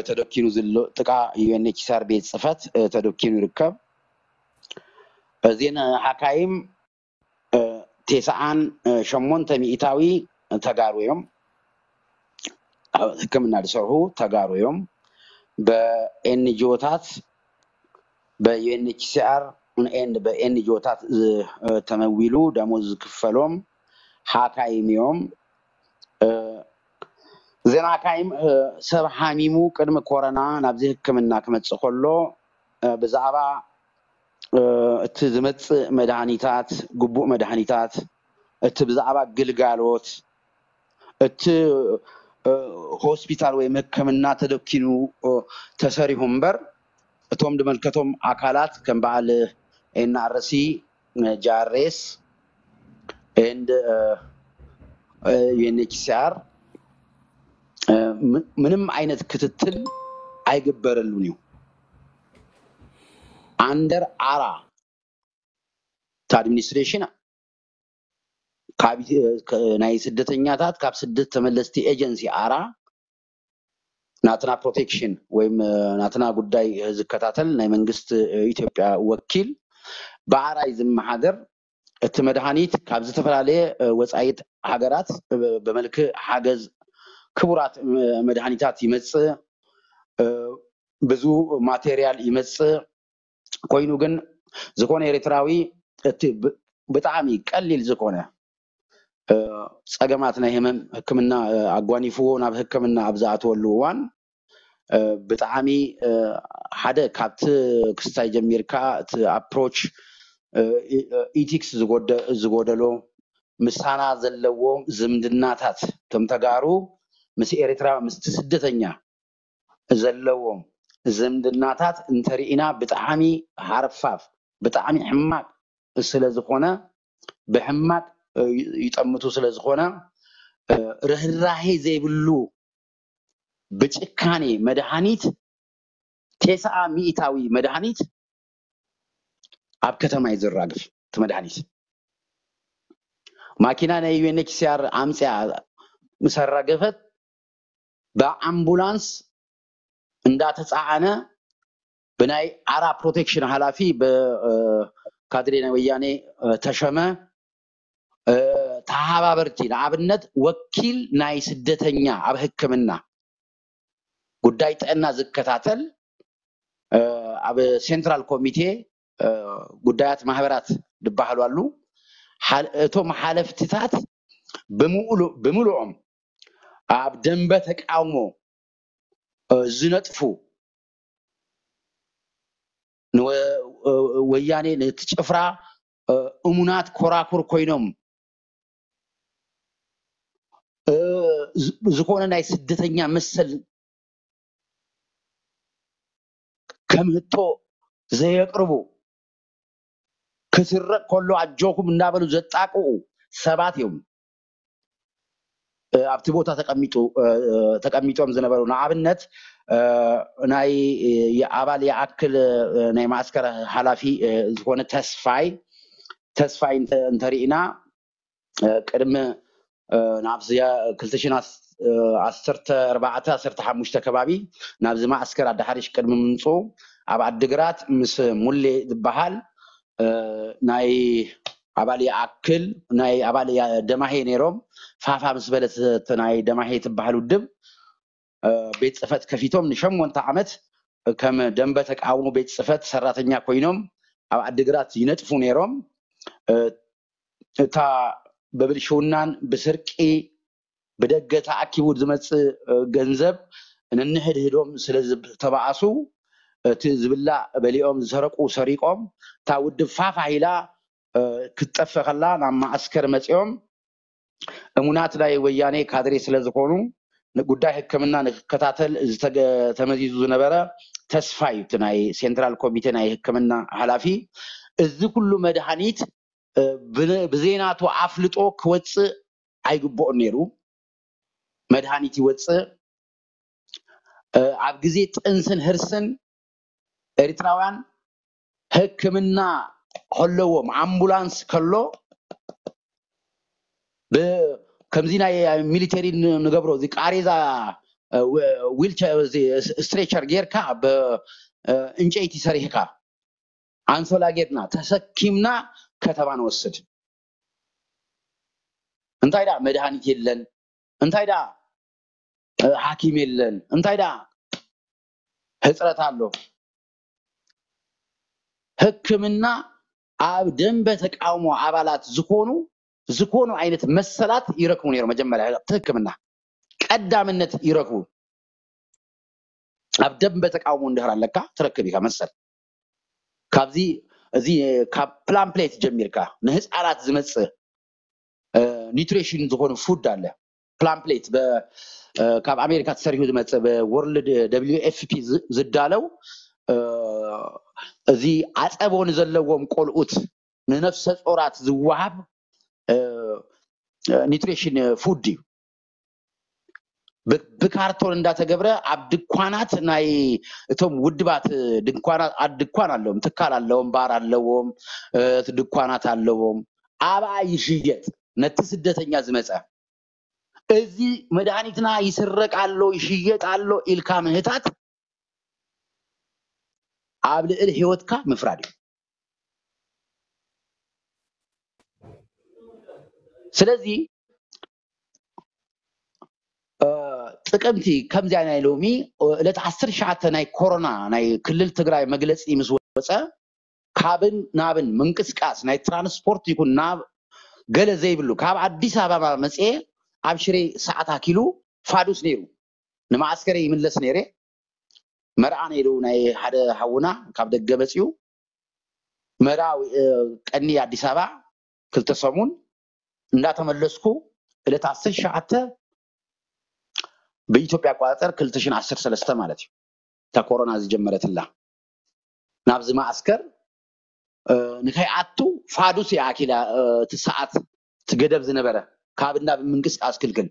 ተደኪኑ ዘሎ ጥቃ ዩ ኤን ኤች ሲ ኣር ቤት ጽሕፈት ተደኪኑ ይርከብ። እዚን ሓካይም ተስዓን ሸሞንተ ሚእታዊ ተጋሩ እዮም። ኣብ ሕክምና ዝሰርሑ ተጋሩ እዮም። በኤንጂኦታት፣ በዩ ኤን ኤች ሲ ኣር ኤንድ በኤንጂኦታት ተመዊሉ ደሞዝ ዝክፈሎም ሓካይም እዮም። እዘን ሓካይም ሰብ ሓሚሙ ቅድሚ ኮረና ናብዚ ሕክምና ክመጽእ ከሎ ብዛዕባ እቲ ዝመጽእ መድሃኒታት፣ ግቡእ መድሃኒታት፣ እቲ ብዛዕባ ግልጋሎት እቲ ሆስፒታል ወይ ሕክምና ተደኪኑ ተሰሪሑ እምበር እቶም ዝመልከቶም ኣካላት ከም በዓል ኤን ኣር ሲ፣ ጂ ኣር ኤስ ኤንድ ዩ ኤን ኤች ሲ ኣር ምንም ዓይነት ክትትል ኣይግበረሉን እዩ። ኣንደር ኣራ እቲ ኣድሚኒስትሬሽን ናይ ስደተኛታት ካብ ስደት ተመለስቲ ኤጀንሲ ኣራ ናትና ፕሮቴክሽን ወይም ናትና ጉዳይ ዝከታተል ናይ መንግስት ኢትዮጵያ ወኪል ብኣራይ ዝመሓደር እቲ መድሃኒት ካብ ዝተፈላለየ ወፃኢት ሃገራት ብመልክዕ ሓገዝ ክቡራት መድሃኒታት ይመፅእ፣ ብዙ ማቴሪያል ይመፅእ። ኮይኑ ግን ዝኾነ ኤርትራዊ እቲ ብጣዕሚ ቀሊል ዝኾነ ፀገማት ናይ ህመም ሕክምና ኣጓኒፍዎ ናብ ሕክምና ኣብ ዝኣትወሉ እዋን ብጣዕሚ ሓደ ካብቲ ክስታይ ጀሚርካ እቲ ኣፕሮች ኢቲክስ ዝጎደሎ ምሳና ዘለዎ ዝምድናታት ከም ተጋሩ ምስ ኤርትራ ምስቲ ስደተኛ ዘለዎም ዝምድናታት እንተርኢና ብጣዕሚ ሃርፋፍ ብጣዕሚ ሕማቅ ስለዝኾነ ብሕማቅ ይጠምቱ ስለዝኾነ ርህራሄ ዘይብሉ ብጭካኔ መድሃኒት ቴስዓ ሚእታዊ መድሃኒት ኣብ ከተማ እዩ ዝራግፍ። እቲ መድሃኒት ማኪና ናይ ዩ ኤን ኤች ሲ ኣር ኣምፅያ ምስ ኣራገፈት ብኣምቡላንስ እንዳተፃዓነ ብናይ ኣራ ፕሮቴክሽን ሓላፊ ብካድሬ ናይ ወያኔ ተሸመ ተሓባበርቲ ንኣብነት ወኪል ናይ ስደተኛ ኣብ ሕክምና ጉዳይ ጥዕና ዝከታተል ኣብ ሴንትራል ኮሚቴ ጉዳያት ማህበራት ዝበሃሉ ኣሉ። እቶም ሓለፍትታት ብምሉኦም ኣብ ደንበ ተቃውሞ ዝነጥፉ ንወያኔ ነቲ ጭፍራ እሙናት ኮራኩር ኮይኖም ዝኾነ ናይ ስደተኛ መሰል ከም ህቶ ዘየቅርቡ ክስረቅ ከሎ ኣጆኩም እንዳበሉ ዘጣቅኡ ሰባት እዮም ኣብቲ ቦታ ተቀሚጡ ተቀሚጦም ዝነበሩ ንኣብነት ናይ ኣባል ይኣክል ናይ ማእስከር ሓላፊ ዝኾነ ተስፋይ ተስፋይ እንተሪእና ቅድሚ ናብ ክልተ ሽሕን ዓሰርተ ኣርባዕተ ዓሰርተ ሓሙሽተ ከባቢ ናብዚ ማእስከር ኣዳሓሪሽ ቅድሚ ምምፅኡ ኣብ ዓድግራት ምስ ሙሌ ዝበሃል ናይ ኣባል ይኣክል ናይ ኣባል ደማሄ ነይሮም ፋፋ ምስ በለት ናይ ደማሄ ትበሃል ውድብ ቤት ፅፈት ከፊቶም ንሸሞንተ ዓመት ከም ደንበ ተቃውሞ ቤት ፅፈት ሰራተኛ ኮይኖም ኣብ ዓድግራት ይነጥፉ ነይሮም። እታ በብልሽውናን ብስርቂ ብደገ ተኣኪቡ ዝመፅእ ገንዘብ ንንሕድህዶም ስለ ዝተባኣሱ እቲ ዝብላዕ በሊኦም ዝሰረቁ ሰሪቆም እታ ውድብ ፋፋ ኢላ ክትጠፍእ ከላ ናብ ማእስከር መፂኦም እሙናት ናይ ወያኔ ካድሬ ስለ ዝኾኑ ንጉዳይ ሕክምና ንክከታተል ዝተገ- ተመዚዙ ዝነበረ ተስፋ እዩ እቲ ናይ ሴንትራል ኮሚቴ ናይ ሕክምና ሓላፊ። እዚ ኩሉ መድሃኒት እ፣ ብ- ብዘይናቱ ኣፍልጦ ክወፅእ ኣይግብኦን ነይሩ። መድሃኒት ይወፅእ እ፣ ኣብ ግዜ ጥንስን ህርስን ኤርትራውያን ሕክምና ከለዎም ኣምቡላንስ ከሎ ብ- ከምዚ ናይ ሚሊተሪ ን- ንገብሮ እዚ ቃሬዛ ዊልቸር፣ ስትሬቸር ጌርካ፣ ብእንጨይቲ ሰሪሕካ፣ ኣንሶላ ጌርና ተሰኪምና ከተማ ንወስድ። እንታይ ደኣ መድሃኒት የለን፣ እንታይ ደኣ ሓኪም የለን፣ እንታይ ደኣ ህፅረት ኣሎ። ሕክምና ኣብ ደንበ ተቃውሞ ኣባላት ዝኾኑ ዝኾኑ ዓይነት መሰላት ይረክቡ ነይሮም። መጀመርያ እቲ ሕክምና ቀዳምነት ይረክቡ። ኣብ ደንበ ተቃውሞ እንድሕር ኣለካ ትረክብ ኢካ መሰል። ካብዚ እዚ ካብ ፕላምፕሌት ጀሚርካ ንህፃናት ዝመፅእ ኒትሪሽን ዝኾኑ ፉድ ኣለ። ፕላምፕሌት ካብ ኣሜሪካ ተሰሪሑ ዝመፅእ ብወርልድ ደብሊዩ ኤፍ ፒ ዝዳለው እዚ ዓፀቦ ንዘለዎም ቆልኡት ንነፍሰ ጾራት ዝወሃብ ኒትሪሽን ፉድ እዩ። ብካርቶን እንዳተገብረ ኣብ ድኳናት ናይ እቶም ውድባት ድኳናት ድኳን ኣለዎም፣ ትካል ኣለዎም፣ ባር ኣለዎም፣ ድኳናት ኣለዎም። ኣብኣ ይሽየጥ። ነቲ ስደተኛ ዝመፀ እዚ መድሃኒትና ይስረቅ ኣሎ ይሽየጥ ኣሎ ኢልካ ምህታት ኣብ ልዕሊ ህይወትካ ምፍራድ እዩ። ስለዚ ጥቅምቲ ከምዚኣ ናይ ሎሚ ዕለት ዓሰርተ ትሽዓተ ናይ ኮሮና ናይ ክልል ትግራይ መግለፂ ምስ ወፀ ካብን ናብን ምንቅስቃስ ናይ ትራንስፖርት ይኩን ናብ ገለ ዘይብሉ ካብ ኣዲስ ኣበባ መፅኤ ኣብ ሽሬ ሰዓት ኣኪሉ ፋዱስ ነይሩ። ንማዓስከረ ይምለስ ነይረ። መርዓ ነይሩ ናይ ሓደ ሓውና ካብ ደገ መፅኡ መርዓ ቀኒ ኣዲስ ኣበባ ክልተ ሰሙን እንዳተመለስኩ ዕለት ዓሰርተ ትሽዓተ ብኢትዮጵያ ኣቆፃፅር ክልተ ሽሕን ዓሰርተ ሰለስተ ማለት እዩ። እታ ኮሮና ዝጀመረትላ ናብዚ ማዓስከር ንከይኣቱ ፋዱስ እያ ኣኪላ እቲ ሰዓት እቲ ገደብ ዝነበረ ካብ እንዳ ብምንቅስቃስ ክልክል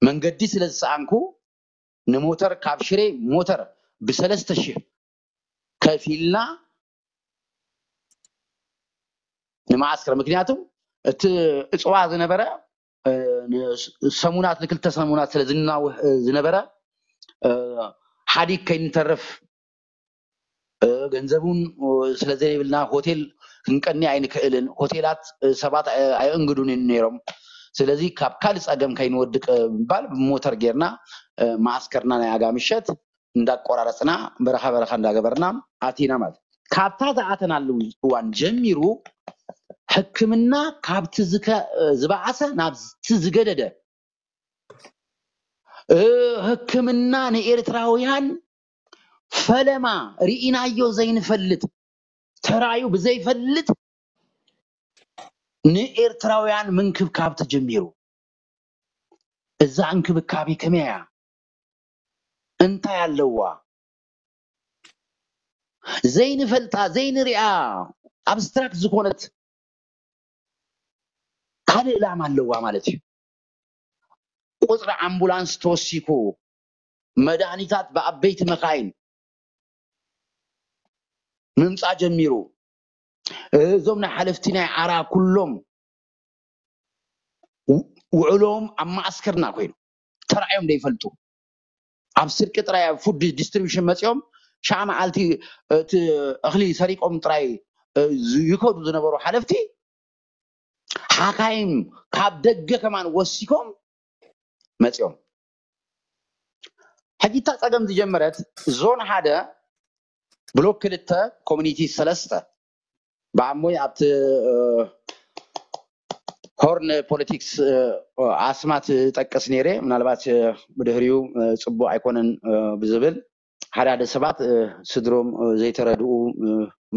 መንገዲ ስለ ዝሰኣንኩ ንሞተር ካብ ሽሬ ሞተር ብሰለስተ ሽሕ ከፊልና ንማዓስከር ምክንያቱ እቲ እፅዋ ዝነበረ ሰሙናት ንክልተ ሰሙናት ስለ ዝናውሕ ዝነበረ ሓዲግ ከይንተርፍ ገንዘብ እውን ስለ ዘይብልና ሆቴል ክንቀኒ ኣይንክእልን። ሆቴላት ሰባት ኣየእንግዱን ነይሮም። ስለዚ ካብ ካልእ ፀገም ከይንወድቅ ብምባል ብሞተር ጌርና ማዓስከርና ናይ ኣጋ ምሸት እንዳቆራረፅና በረኻ በረኻ እንዳገበርና ኣቲና ማለት ካብታ ዝኣተናሉ እዋን ጀሚሩ ሕክምና ካብቲ ዝበኣሰ ናብቲ ዝገደደ ሕክምና ንኤርትራውያን ፈለማ ርኢናዮ ዘይንፈልጥ ተራዩ ብዘይፈልጥ ንኤርትራውያን ምንክብካብ ተጀሚሩ። እዛ እንክብካቤ ከመይ እያ? እንታይ ኣለዋ? ዘይንፈልጣ ዘይንሪኣ ኣብስትራክት ዝኾነት ካልእ ዕላማ ኣለዋ ማለት እዩ። ቁፅሪ ኣምቡላንስ ተወሲኩ፣ መድሃኒታት ብዓበይቲ መኻይን ምምፃእ ጀሚሩ። እዞም ናይ ሓለፍቲ ናይ ዓራ ኩሎም ውዕሎም ኣብ ማእስከርና ኮይኑ ተራእዮም ዘይፈልጡ ኣብ ስርቂ ጥራይ ኣብ ፉድ ዲስትሪቢሽን መፂኦም ሻዓ መዓልቲ እቲ እኽሊ ሰሪቆም ጥራይ ይከዱ ዝነበሩ ሓለፍቲ ሓካይም ካብ ደገ ከማን ወሲኮም መፂኦም። ሕጂ እታ ፀገም ዝጀመረት ዞን ሓደ ብሎክ ክልተ ኮሚኒቲ ሰለስተ ብዓሞይ ኣብቲ ሆርን ፖለቲክስ ኣስማት ጠቅስ ነይረ ምናልባት ብድሕሪኡ ፅቡቅ ኣይኮነን ብዝብል ሓደ ሓደ ሰባት ስድሮም ዘይተረድኡ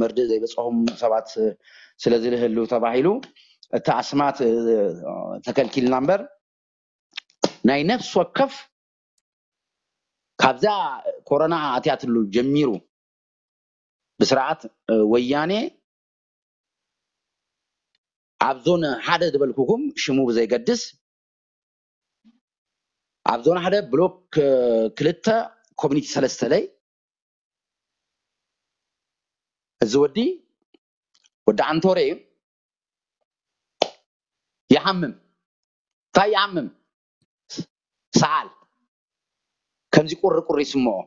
መርድእ ዘይበፅሖም ሰባት ስለዝልህሉ ተባሂሉ እቲ ኣስማት ተከልኪልና እምበር ናይ ነፍሲ ወከፍ ካብዛ ኮሮና ኣትያትሉ ጀሚሩ ብስርዓት ወያኔ ኣብ ዞን ሓደ ዝበልኩኩም ሽሙ ብዘይገድስ ኣብ ዞን ሓደ ብሎክ ክልተ ኮሚኒቲ ሰለስተ ለይ እዚ ወዲ ወዲ ኣንቶሬ እዩ። ይሓምም እንታይ ይሓምም ሰዓል ከምዚ ቁሪ ቁሪ ይስምዖ።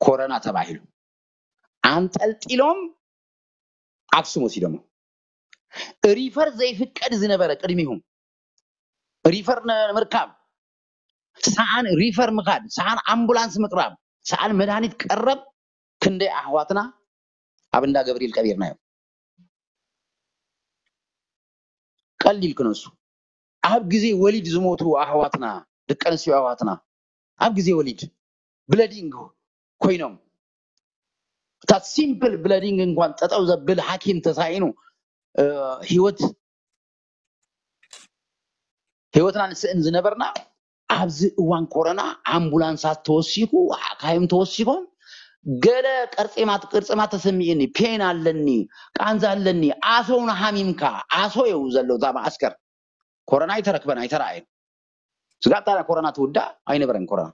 ኮረና ተባሂሉ። ኣንጠልጢሎም ኣክሱም ወሲዶሞ። ሪፈር ዘይፍቀድ ዝነበረ ቅድሚሁም። ሪፈር ንምርካብ፣ ሰኣን ሪፈር ምኻድ፣ ሰኣን ኣምቡላንስ ምቅራብ፣ ሰኣን መድሃኒት ቀረብ ክንደይ ኣሕዋትና ኣብ እንዳ ገብርኤል ቀቢርናዮም። ቀሊል ክነሱ ኣብ ግዜ ወሊድ ዝሞቱ ኣሕዋትና፣ ደቂ ኣንስትዮ ኣሕዋትና ኣብ ግዜ ወሊድ ብለዲንግ ኮይኖም፣ እታ ሲምፕል ብለዲንግ እንኳን ጠጠው ዘብል ሓኪም ተሳኢኑ፣ እ፣ ህይወት ህይወትና ንስእን ዝነበርና፣ ኣብዚ እዋን ኮረና ኣምቡላንሳት ተወሲኹ፣ ሓካይም ተወሲኾም፣ ገለ ቅርጺማት ቅርጺማት ተሰሚዕኒ፣ ፔን ኣለኒ፣ ቃንዛ ኣለኒ፣ ኣሶ እውን ሃሚምካ፣ ኣሶ እዩ ዘሎ እዛ መዓስከር። ኮረና ኣይተረክበን ኣይተረኣየን። ስጋብ ታዲያ ኮረና ትውዳእ ኣይነበረን ኮረና።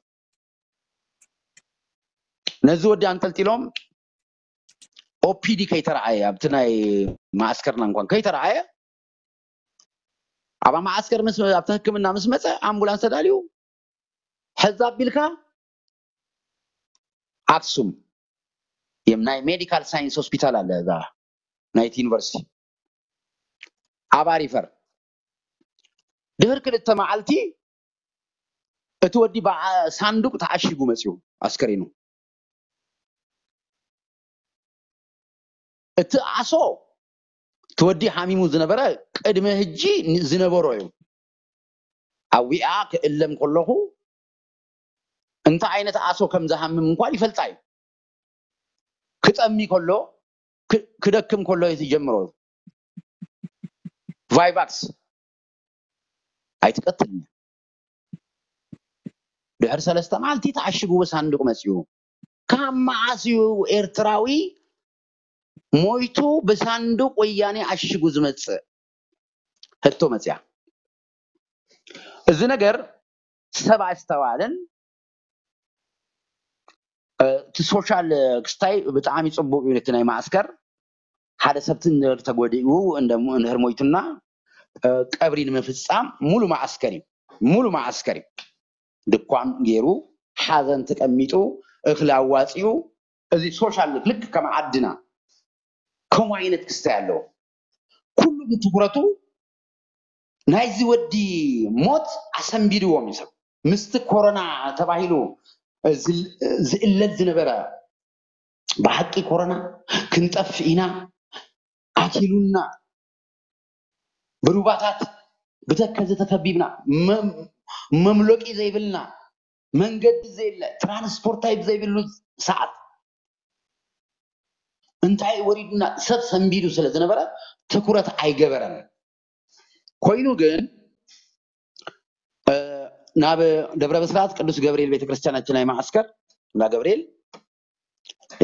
ነዚ ወዲ ኣንጠልጢሎም ኦፒዲ ከይተረኣየ፣ ኣብቲ ናይ መዓስከርና እንኳን ከይተረኣየ፣ ኣብ መዓስከር ምስ ኣብቲ ሕክምና ምስ መፀ ኣምቡላንስ ተዳልዩ ሕዛ ኣቢልካ ኣክሱም የም ናይ ሜዲካል ሳይንስ ሆስፒታል ኣለ እዛ ናይቲ ዩኒቨርሲቲ ኣባ ሪፈር። ድሕሪ ክልተ መዓልቲ እቲ ወዲ ብዓ- ሳንዱቅ ተዓሺጉ መፅዩ ኣስከሬኑ። እቲ ኣሶ እቲ ወዲ ሓሚሙ ዝነበረ ቅድሚ ሕጂ ን- ዝነበሮ እዩ። ኣዊኣ ክእለም ከለኹ እንታይ ዓይነት ኣሶ ከም ዝሃምም እንኳን ይፈልጣ እዩ። ክጠሚ ከሎ ክ- ክደክም ከሎ እዩ ዝጀምሮ። ቫይቫክስ ኣይትቀትልን። ድሕሪ ሰለስተ መዓልቲ ተዓሽጉ ብሳንዱቅ መፅኡ። ካብ መዓስ እዩ ኤርትራዊ ሞይቱ ብሳንዱቅ ወያኔ ኣሽጉ ዝመፅእ? ሕቶ መፅያ። እዚ ነገር ሰብ ኣስተባልን እቲ ሶሻል ክስታይ ብጣዕሚ ፅቡቅ እዩ። ነቲ ናይ ማዕስከር ሓደ ሰብቲ እንድሕር ተጎዲኡ እንድሕር ሞይቱና ቀብሪ ንምፍፃም ሙሉ ማዕስከር እዩ፣ ሙሉ ማዕስከር እዩ። ድኳን ገይሩ ሓዘን ተቀሚጡ እኽሊ ኣዋፂኡ እዚ ሶሻል ልክ ከም ዓድና ከምኡ ዓይነት ክስታይ ኣለዎ። ኩሉ ብትኩረቱ ናይዚ ወዲ ሞት ኣሰንቢድዎም እዩ ሰብ። ምስቲ ኮሮና ተባሂሉ ዝእለል ዝነበረ ብሓቂ ኮሮና ክንጠፍእ ኢና ኣኪሉና ብሩባታት ብተከዘ ተከቢብና መምሎቂ ዘይብልና መንገዲ ዘየለ ትራንስፖርት ታይፕ ዘይብሉ ሰዓት እንታይ ወሪዱና ሰብ ሰንቢዱ ስለ ዝነበረ ትኩረት ኣይገበረን። ኮይኑ ግን ናብ ደብረ ብስራት ቅዱስ ገብርኤል ቤተክርስትያን እቲ ናይ ማዕስከር እንዳ ገብርኤል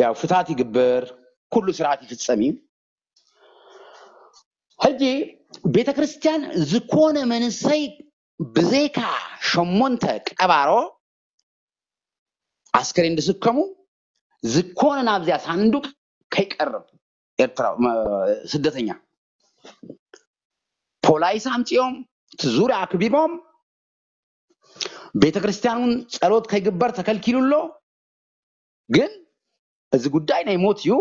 ያው ፍታት ይግበር፣ ኩሉ ስርዓት ይፍጸም እዩ። ሕጂ ቤተክርስትያን ዝኾነ መንሰይ ብዘይካ ሸሞንተ ቀባሮ ኣስከሬን ዝስከሙ ዝኾነ ናብዚያ ሳንዱቅ ከይቀርብ ኤርትራዊ ስደተኛ ፖላይስ ኣምፂኦም እቲ ዙርያ ኣክቢቦም ቤተክርስትያን እውን ፀሎት ከይግበር ተከልኪሉ ኣሎ። ግን እዚ ጉዳይ ናይ ሞት እዩ።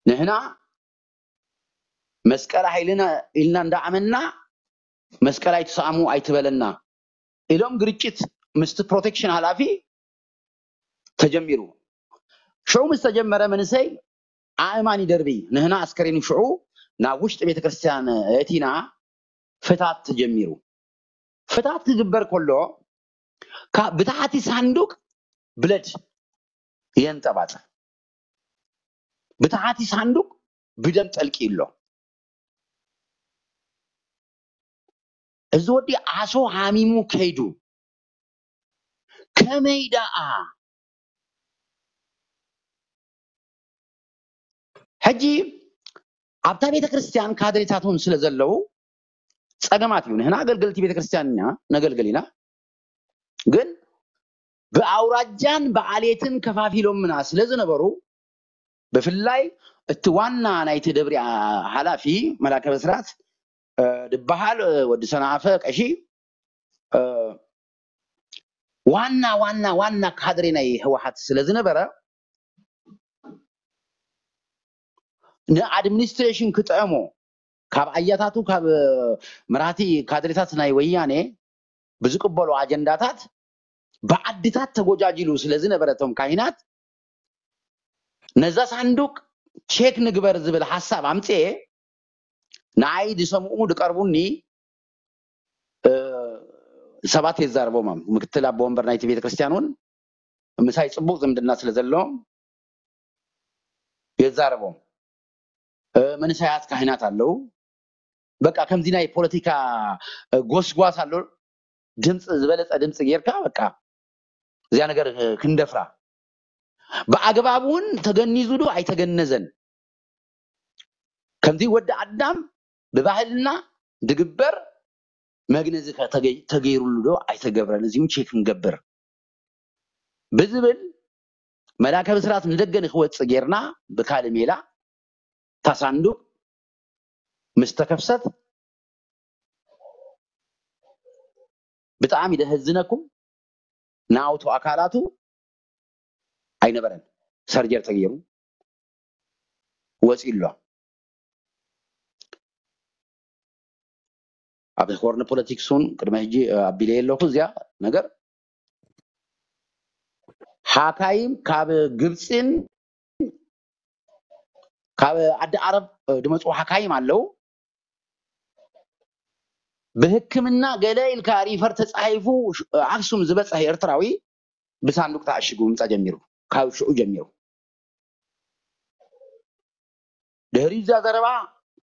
ንሕና መስቀል ሓይልና ኢልና እንዳኣመንና መስቀል ኣይትሰኣሙ ኣይትበለና ኢሎም ግርጭት ምስቲ ፕሮቴክሽን ሓላፊ ተጀሚሩ። ሽዑ ምስ ተጀመረ መንእሰይ ኣእማን ይደርቢ ንህና ኣስከሬኑ ሽዑ ናብ ውሽጢ ቤተክርስትያን እቲና ፍታት ተጀሚሩ። ፍታት ክግበር ከሎ ካብ ብታሕቲ ሳንዱቅ ብለድ የንጠባጥብ። ብታሕቲ ሳንዱቅ ብደም ጠልቂ ኣሎ። እዚ ወዲ ዓሶ ሃሚሙ ከይዱ ከመይ ደኣ ሕጂ ኣብታ ቤተ ክርስቲያን ካድሬታት እውን ስለ ዘለዉ ጸገማት እዩ። ንሕና ኣገልገልቲ ቤተ ክርስቲያን ኢና፣ ነገልግል ኢና። ግን ብኣውራጃን ብዓሌትን ከፋፊሎምና ስለ ዝነበሩ ብፍላይ እቲ ዋና ናይቲ ደብሪ ሓላፊ መላከ ብስራት ድበሃል ወዲ ሰናፈ ቀሺ ዋና ዋና ዋና ካድሬ ናይ ህወሓት ስለ ዝነበረ ንኣድሚኒስትሬሽን ክጥዕሞ ካብ ኣያታቱ ካብ መራሕቲ ካድሬታት ናይ ወያኔ ብዝቅበሉ ኣጀንዳታት ብዓድታት ተጎጃጅሉ ስለ ዝነበረ እቶም ካሂናት ነዛ ሳንዱቅ ቼክ ንግበር ዝብል ሓሳብ ኣምፅኤ ንዓይ ዝሰምኡ ዝቀርቡኒ ሰባት የዛርቦም። ምክትል ኣቦ ወንበር ናይቲ ቤተክርስትያን እውን ምሳይ ፅቡቅ ዝምድና ስለ ዘለዎም የዛርቦም። መንእሰያት ካህናት ኣለዉ። በቃ ከምዚ ናይ ፖለቲካ ጎስጓስ ኣሎ። ድምፂ ዝበለፀ ድምፂ ጌርካ በቃ እዚኣ ነገር ክንደፍራ ብኣግባብ እውን ተገኒዙ ዶ ኣይተገነዘን ከምዚ ወዲ ኣዳም ብባህልና ድግበር መግነዚ ተገይሩሉ ዶ ኣይተገብረን እዚውን ቼክ ንገብር ብዝብል መላከ ብስራት ንደገ ንክወፅእ ጌርና ብካልእ ሜላ እታ ሳንዱቅ ምስ ተከፍሰት ብጣዕሚ ደህዝነኩም ናውቱ ኣካላቱ ኣይነበረን ሰርጀር ተገይሩ ወፂ ኣሎ ኣብ ሆርን ፖለቲክስ እውን ቅድሚ ሕጂ ኣቢለ ኣለኹ እዚኣ ነገር ሓካይም ካብ ግብፅን ካብ ዓዲ ዓረብ ድመፁ ሓካይም ኣለዉ ብህክምና ገለ ኢልካ ሪፈር ተፃሒፉ ኣክሱም ዝበፅሐ ኤርትራዊ ብሳንዱቅ ተኣሽጉ ምምፃእ ጀሚሩ ካብ ሽዑ ጀሚሩ ድሕሪ እዛ ዘረባ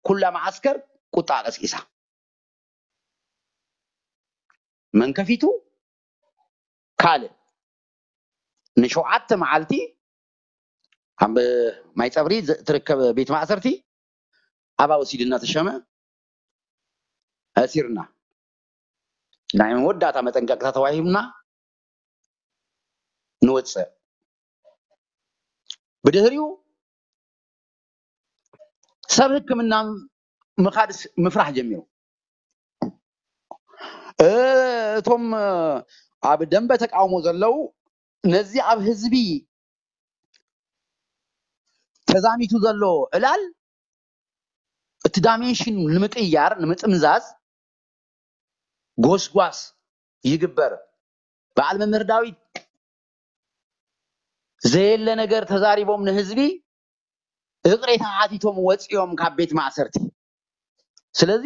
ኩላ መዓስከር ቁጣ ቀስቂሳ መን ከፊቱ ካልእ ንሸውዓተ መዓልቲ ኣብ ማይ ፀብሪ ትርከብ ቤት ማእሰርቲ ኣባ ወሲድና ተሸመ ኣሲርና ናይ መወዳእታ መጠንቀቅታ ተዋሂብና ንወፅእ ብድህሪኡ ሰብ ህክምና ምኻድ ምፍራሕ ጀሚሩ እቶም ኣብ ደንበ ተቃውሞ ዘለዉ ነዚ ኣብ ህዝቢ ተዛሚቱ ዘሎ ዕላል እቲ ዳይሜንሽን ንምቅያር ንምጥምዛዝ ጎስጓስ ይግበር በዓል መምህር ዳዊት ዘየለ ነገር ተዛሪቦም ንህዝቢ እቅሬታ ሓቲቶም ወፂኦም ካብ ቤት ማእሰርቲ ስለዚ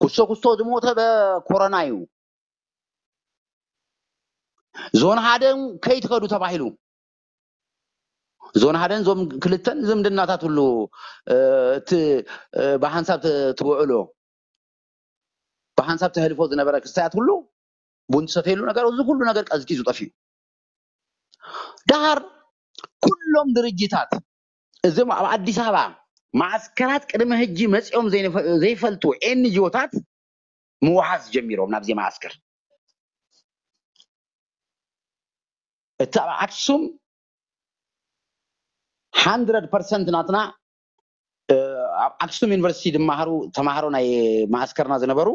ኩስቶ ኩስቶ ዝሞተ በኮሮና እዩ ዞን ሓደ ከይትኸዱ ተባሂሉ ዞን ሓደን ዞም ክልተን ዝምድናታት ሁሉ እቲ ብሓንሳብ ትውዕሎ ብሓንሳብ ተህልፎ ዝነበረ ክስታያት ሁሉ ቡን ትሰተየሉ ነገር እዚ ኩሉ ነገር ቀዝቂዙ ጠፊኡ ዳሃር ኩሎም ድርጅታት እዞም ኣብ ኣዲስ ኣበባ ማዓስከራት ቅድሚ ሕጂ መፂኦም ዘይፈልጡ ኤንጂኦታት ምውሓዝ ጀሚሮም ናብዚ ማዓስከር እቲ ኣብ ኣክሱም hundred percent ናትና ኣብ ኣክሱም ዩኒቨርሲቲ ድመሃሩ ተማሃሮ ናይ ማዓስከርና ዝነበሩ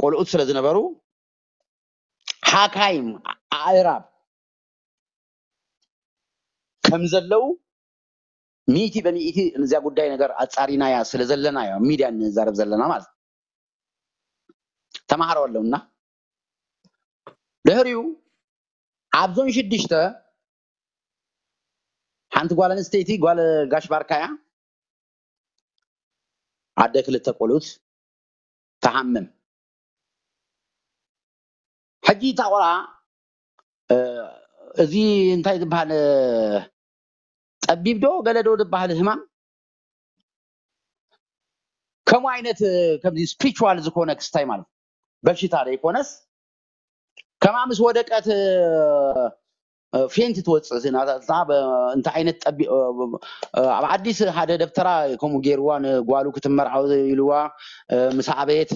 ቆልዑት ስለ ዝነበሩ ሓካይም ኣእራብ ከም ዘለዉ ሚእቲ በሚእቲ እዚኣ ጉዳይ ነገር ኣፃሪናያ ስለ ዘለናዮ ሚድያ ንዛረብ ዘለና ማለት ተማሃሮ ኣለውና ድሕሪኡ ኣብ ዞን ሽዱሽተ ሓንቲ ጓል ኣንስተይቲ ጓል ጋሽ ባርካያ ኣደ ክልተ ቆልኡት ተሃምም ሕጂ እታ ቆልዓ እዚ እንታይ ዝበሃል ጠቢብ ዶ ገለ ዶ ዝበሃል ህማም ከምኡ ዓይነት ከምዚ ስፕሪቹዋል ዝኾነ ክስታይ ማለት በሽታ ዘይኮነስ ከማ ምስ ወደቀት ፌንት ትወፅእ እንታይ ዓይነት ጠቢ ኣብ ዓዲስ ሓደ ደብተራ ከምኡ ገይርዋ ንጓሉ ክትመርዓው ኢልዋ ምስ ዓበየት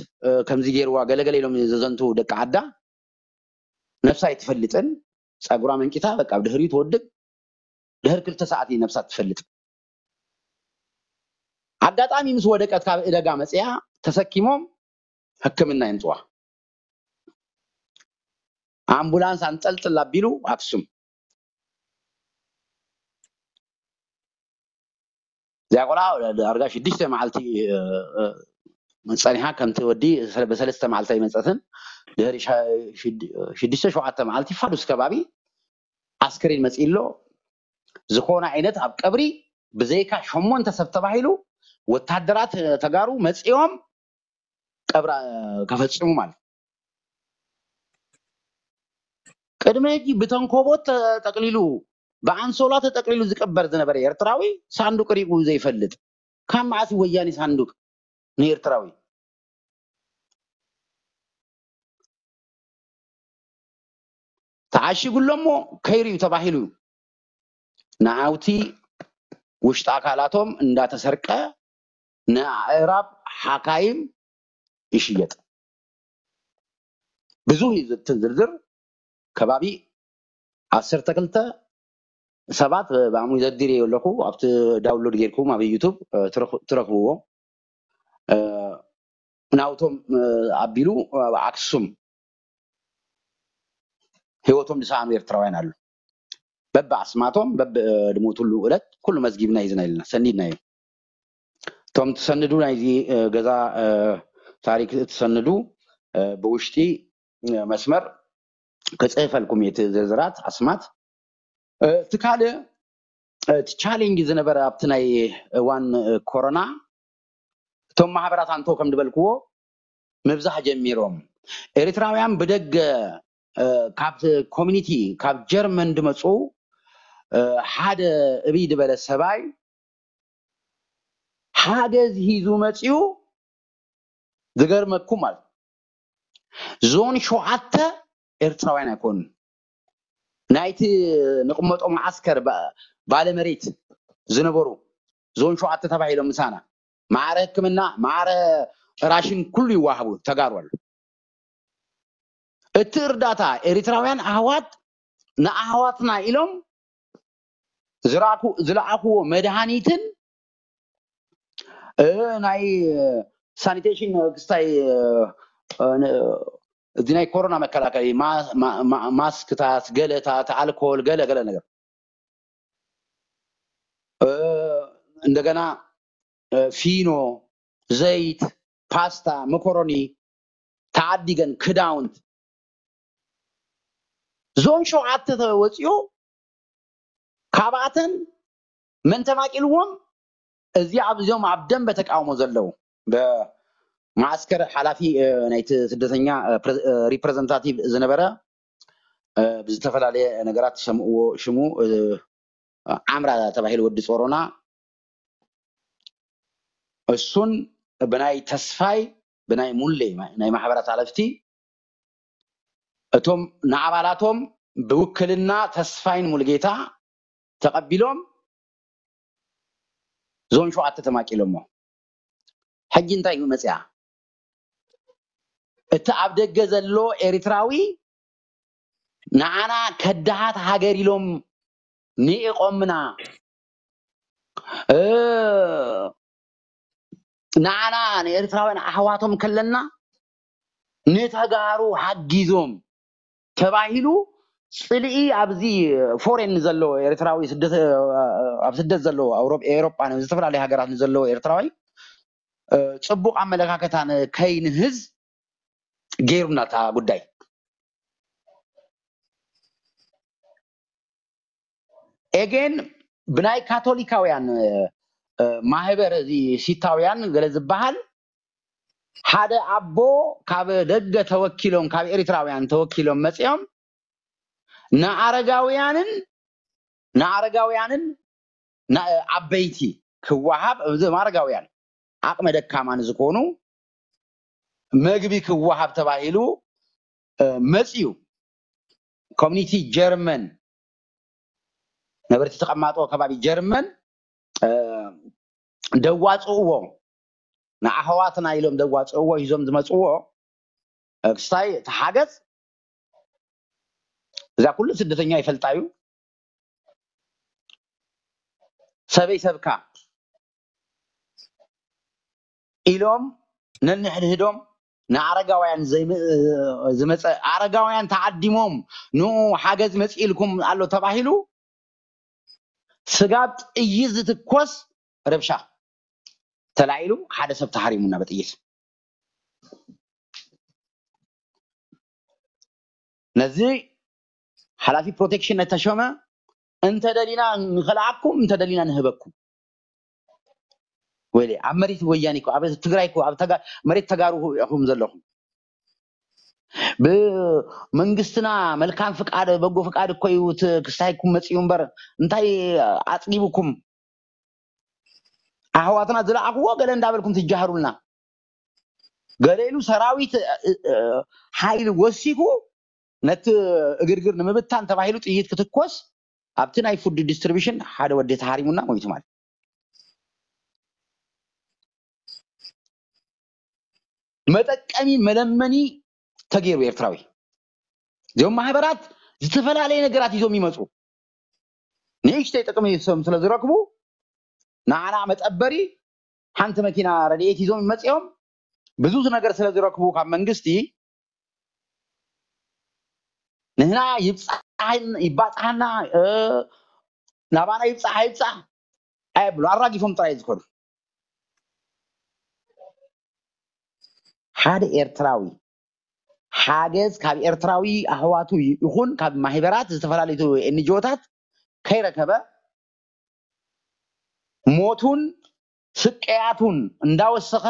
ከምዚ ገይርዋ ገለገለ ኢሎም ዘዘንቱ ደቂ ዓዳ ነብሳ ኣይትፈልጥን ፀጉራ መንቂታ በቃ ብድሕሪኡ ትወድቅ ድሕር ክልተ ሰዓት እዩ ነብሳ ትፈልጥ ኣጋጣሚ ምስ ወደቀት ካብ እደጋ መፅያ ተሰኪሞም ሕክምና የምፅዋ ኣምቡላንስ ኣንጠልጥል ኣቢሉ ኣክሱም። እዚኣ ቆልዓ ዳርጋ ሽዱሽተ መዓልቲ ጸኒሓ፣ ከምቲ ወዲ ብሰለስተ መዓልቲ ኣይመጸትን። ድሕሪ ሽዱሽተ ሸውዓተ መዓልቲ ፋዱስ ከባቢ ኣስክሬን መጺእሎ። ዝኾነ ዓይነት ኣብ ቀብሪ ብዘይካ ሸሞንተ ሰብ ተባሂሉ ወታደራት ተጋሩ መጺኦም ቀብራ ከፈጽሙ ማለት። ቅድሚ ሕጂ ብተንኮቦት ተጠቅሊሉ፣ ብኣንሶላ ተጠቅሊሉ ዝቅበር ዝነበረ ኤርትራዊ ሳንዱቅ ሪኡ ዘይፈልጥ፣ ካብ መዓስ ወያኔ ሳንዱቅ ንኤርትራዊ ተዓሺጉ ኣሎ እሞ ከይርዩ ተባሂሉ ንዓውቲ ውሽጢ ኣካላቶም እንዳተሰርቀ ንኣእራብ ሓካይም ይሽየጥ። ብዙህ እዩ ዝትን ዝርዝር ከባቢ ዓሰርተ ክልተ ሰባት ብኣሙ ዘዲር ኣለኹ ኣብቲ ዳውንሎድ ጌርኩም ኣብ ዩቱብ ትረኽብዎ። ናውቶም ኣቢሉ ኣብ ኣክሱም ህይወቶም ዝሰኣኑ ኤርትራውያን ኣሉ። በብ ኣስማቶም በብ ድሞትሉ ዕለት ኩሉ መዝጊብና ሒዝና ኢልና ሰኒድናዮ። እቶም ትሰንዱ ናይዚ ገዛ ታሪክ ትሰንዱ ብውሽጢ መስመር ክፅህፈልኩም እየ እቲ ዝርዝራት ኣስማት። እቲ ካልእ እቲ ቻሌንጅ ዝነበረ ኣብቲ ናይ እዋን ኮሮና እቶም ማሕበራት ኣንቶ ከም ዝበልክዎ ምብዛሕ ጀሚሮም። ኤርትራውያን ብደገ ካብ ኮሚኒቲ ካብ ጀርመን ድመፁ ሓደ እብይ ዝበለ ሰባይ ሓገዝ ሂዙ መፂኡ። ዝገርመኩም ማለት ዞን ሸውዓተ ኤርትራውያን ኣይኮኑን። ናይቲ ንቕመጦ መዓስከር ባለመሬት ዝነበሩ ዞን ሸውዓተ ተባሂሎም ምሳና ማዕረ ሕክምና ማዕረ ራሽን ኩሉ ይዋሃቡ ተጋሩ ኣሎ። እቲ እርዳታ ኤርትራውያን ኣህዋት ንኣህዋትና ኢሎም ዝለኣኽዎ መድሃኒትን ናይ ሳኒቴሽን ክስታይ እዚ ናይ ኮሮና መከላከሊ ማስክታት፣ ገለታት፣ ኣልኮል፣ ገለ ገለ ነገር እንደገና ፊኖ፣ ዘይት፣ ፓስታ፣ መኮሮኒ ተዓዲገን ክዳውንት ዞን ሸውዓተ ተወፂኡ ካብኣተን መን ተማቂልዎም እዚ ኣብዚኦም ኣብ ደንበ ተቃውሞ ዘለዉ ብማዓስከር ሓላፊ ናይቲ ስደተኛ ሪፕረዘንታቲቭ ዝነበረ ብዝተፈላለየ ነገራት ትሰምእዎ ሽሙ ዓምራ ተባሂሉ ወዲ ጾሮና እሱን ብናይ ተስፋይ ብናይ ሙሌ ናይ ማሕበራት ኣለፍቲ እቶም ንኣባላቶም ብውክልና ተስፋይን ሙልጌታ ተቐቢሎም ዞን ሸውዓተ ተማቂሎሞ። ሕጂ እንታይ እዩ መፅያ? እቲ ኣብ ደገ ዘሎ ኤርትራዊ ንዓና ከዳሃት ሃገር ኢሎም ንኢቆምና ንዓና ንኤርትራውያን ኣሕዋቶም ከለና ንተጋሩ ሓጊዞም ተባሂሉ ፅልኢ ኣብዚ ፎሬን ዘሎ ኤርትራዊ ኣብ ስደት ዘሎ ኤሮጳ ዝተፈላለዩ ሃገራት ንዘለዎ ኤርትራዊ ፅቡቅ ኣመለካከታ ከይንህዝ ገይሩና እታ ጉዳይ። ኤጌን ብናይ ካቶሊካውያን ማህበር እዚ ሲታውያን ገለ ዝበሃል ሓደ ኣቦ ካብ ደገ ተወኪሎም ካብ ኤርትራውያን ተወኪሎም መፂኦም ንኣረጋውያንን ንኣረጋውያንን ዓበይቲ ክወሃብ እዞም ኣረጋውያን ዓቕመ ደካማ ንዝኾኑ መግቢ ክወሃብ ተባሂሉ መፅዩ። ኮሚኒቲ ጀርመን ነበርቲ ተቐማጦ ከባቢ ጀርመን ደዋፅእዎ ንኣሕዋትና ኢሎም ደዋፅእዎ ሂዞም ዝመፅዎ ክስታይ ተሓገዝ እዛ ኩሉ ስደተኛ ይፈልጣ እዩ። ሰበይ ሰብካ ኢሎም ነንሕድህዶም ንኣረጋውያን ዝመፀ ኣረጋውያን ተዓዲሞም ንኡ ሓገዝ መፂእልኩም ኣሎ ተባሂሉ ስጋብ ጥይት ዝትኮስ ረብሻ ተላዒሉ ሓደ ሰብ ተሃሪሙና ብጥይት። ነዚ ሓላፊ ፕሮቴክሽን ነተሾመ እንተደሊና ንኸልኣኩም እንተደሊና ንህበኩም። ወይለ ኣብ መሬት ወያኔ እኮ ኣብ ትግራይ እኮ ኣብ መሬት ተጋሩ ኢኹም ዘለኹም። ብመንግስትና መልካም ፍቃድ በጎ ፍቃድ እኮ እዩ ክስታይኩም መፅዩ እምበር እንታይ ኣፅጊቡኩም? ኣሕዋትና ዝለኣኽዎ ገለ እንዳበልኩም ትጃህሩልና። ገለ ኢሉ ሰራዊት ሓይል ወሲኩ ነቲ እግርግር ንምብታን ተባሂሉ ጥይት ክትኮስ ኣብቲ ናይ ፉድ ዲስትሪቢሽን ሓደ ወዲ ተሃሪሙና ሞይቱ ማለት መጠቀሚ መለመኒ ተገይሩ ኤርትራዊ። እዚኦም ማህበራት ዝተፈላለየ ነገራት ይዞም ይመፁ። ንእሽተይ ጥቅሚ ስለ ዝረክቡ ንዓና መጠበሪ ሓንቲ መኪና ረድኤት ይዞም መፂኦም ብዙ ነገር ስለ ዝረክቡ ካብ መንግስቲ ንህና ይባፅሓና ናባና ይብፃሕ ኣይብፃሕ ኣየብሉ ኣራጊፎም ጥራይ ዝኮኑ። ሓደ ኤርትራዊ ሓገዝ ካብ ኤርትራዊ ኣሕዋቱ ይኹን ካብ ማህበራት ዝተፈላለዩ ኤንጂኦታት ከይረከበ ሞቱን ስቅያቱን እንዳወሰኸ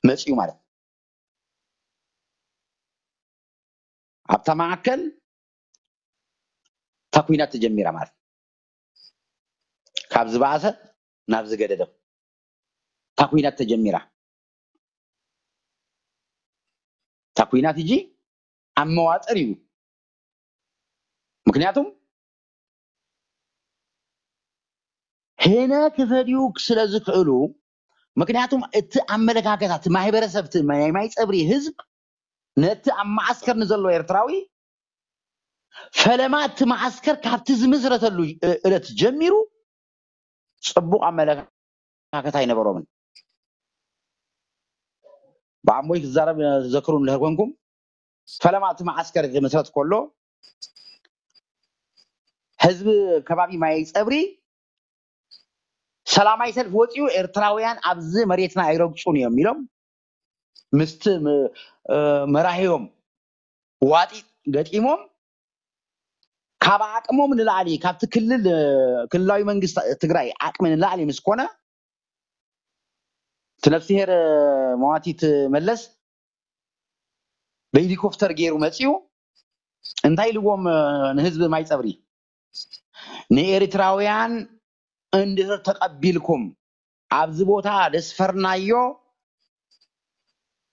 መፅዩ ማለት ኣብታ ማእከል እታ ኩናት ተጀሚራ ማለት ካብ ዝበኣሰ ናብ ዝገደደ እታ ኩናት ተጀሚራ። እታ ኩናት እጂ ኣብ መዋጥር እዩ። ምክንያቱም ሄነ ክፈድዩ ስለ ዝክእሉ፣ ምክንያቱም እቲ ኣመለካከታ እቲ ማህበረሰብ እቲ ናይ ማይ ፀብሪ ህዝብ ነቲ ኣብ ማዓስከር ንዘሎ ኤርትራዊ ፈለማ እቲ ማዓስከር ካብቲ ዝምስረተሉ እለት ጀሚሩ ፅቡቅ ኣመለካከታ ኣይነበሮምን። ብዓሞይ ክዛረብ ዘክሩ እንድሕር ኮንኩም ፈለማ እቲ ማዓስከር ክምስረት ከሎ ህዝቢ ከባቢ ማይ ፀብሪ ሰላማይ ሰልፍ ወፂኡ ኤርትራውያን ኣብዚ መሬትና ኣይረግፁን እዮም ኢሎም ምስቲ መራሂቦም ዋጢጥ ገጢሞም ካብ ዓቅሞም ንላዕሊ ካብቲ ክልል ክልላዊ መንግስቲ ትግራይ ዓቅሚ ንላዕሊ ምስ ኮነ እቲ ነፍስሄር መዋቲት መለስ ብሄሊኮፕተር ገይሩ መፂኡ እንታይ ኢልዎም ንህዝቢ ማይ ፀብሪ ንኤርትራውያን እንድህር ተቀቢልኩም ኣብዚ ቦታ ደስፈርናዮ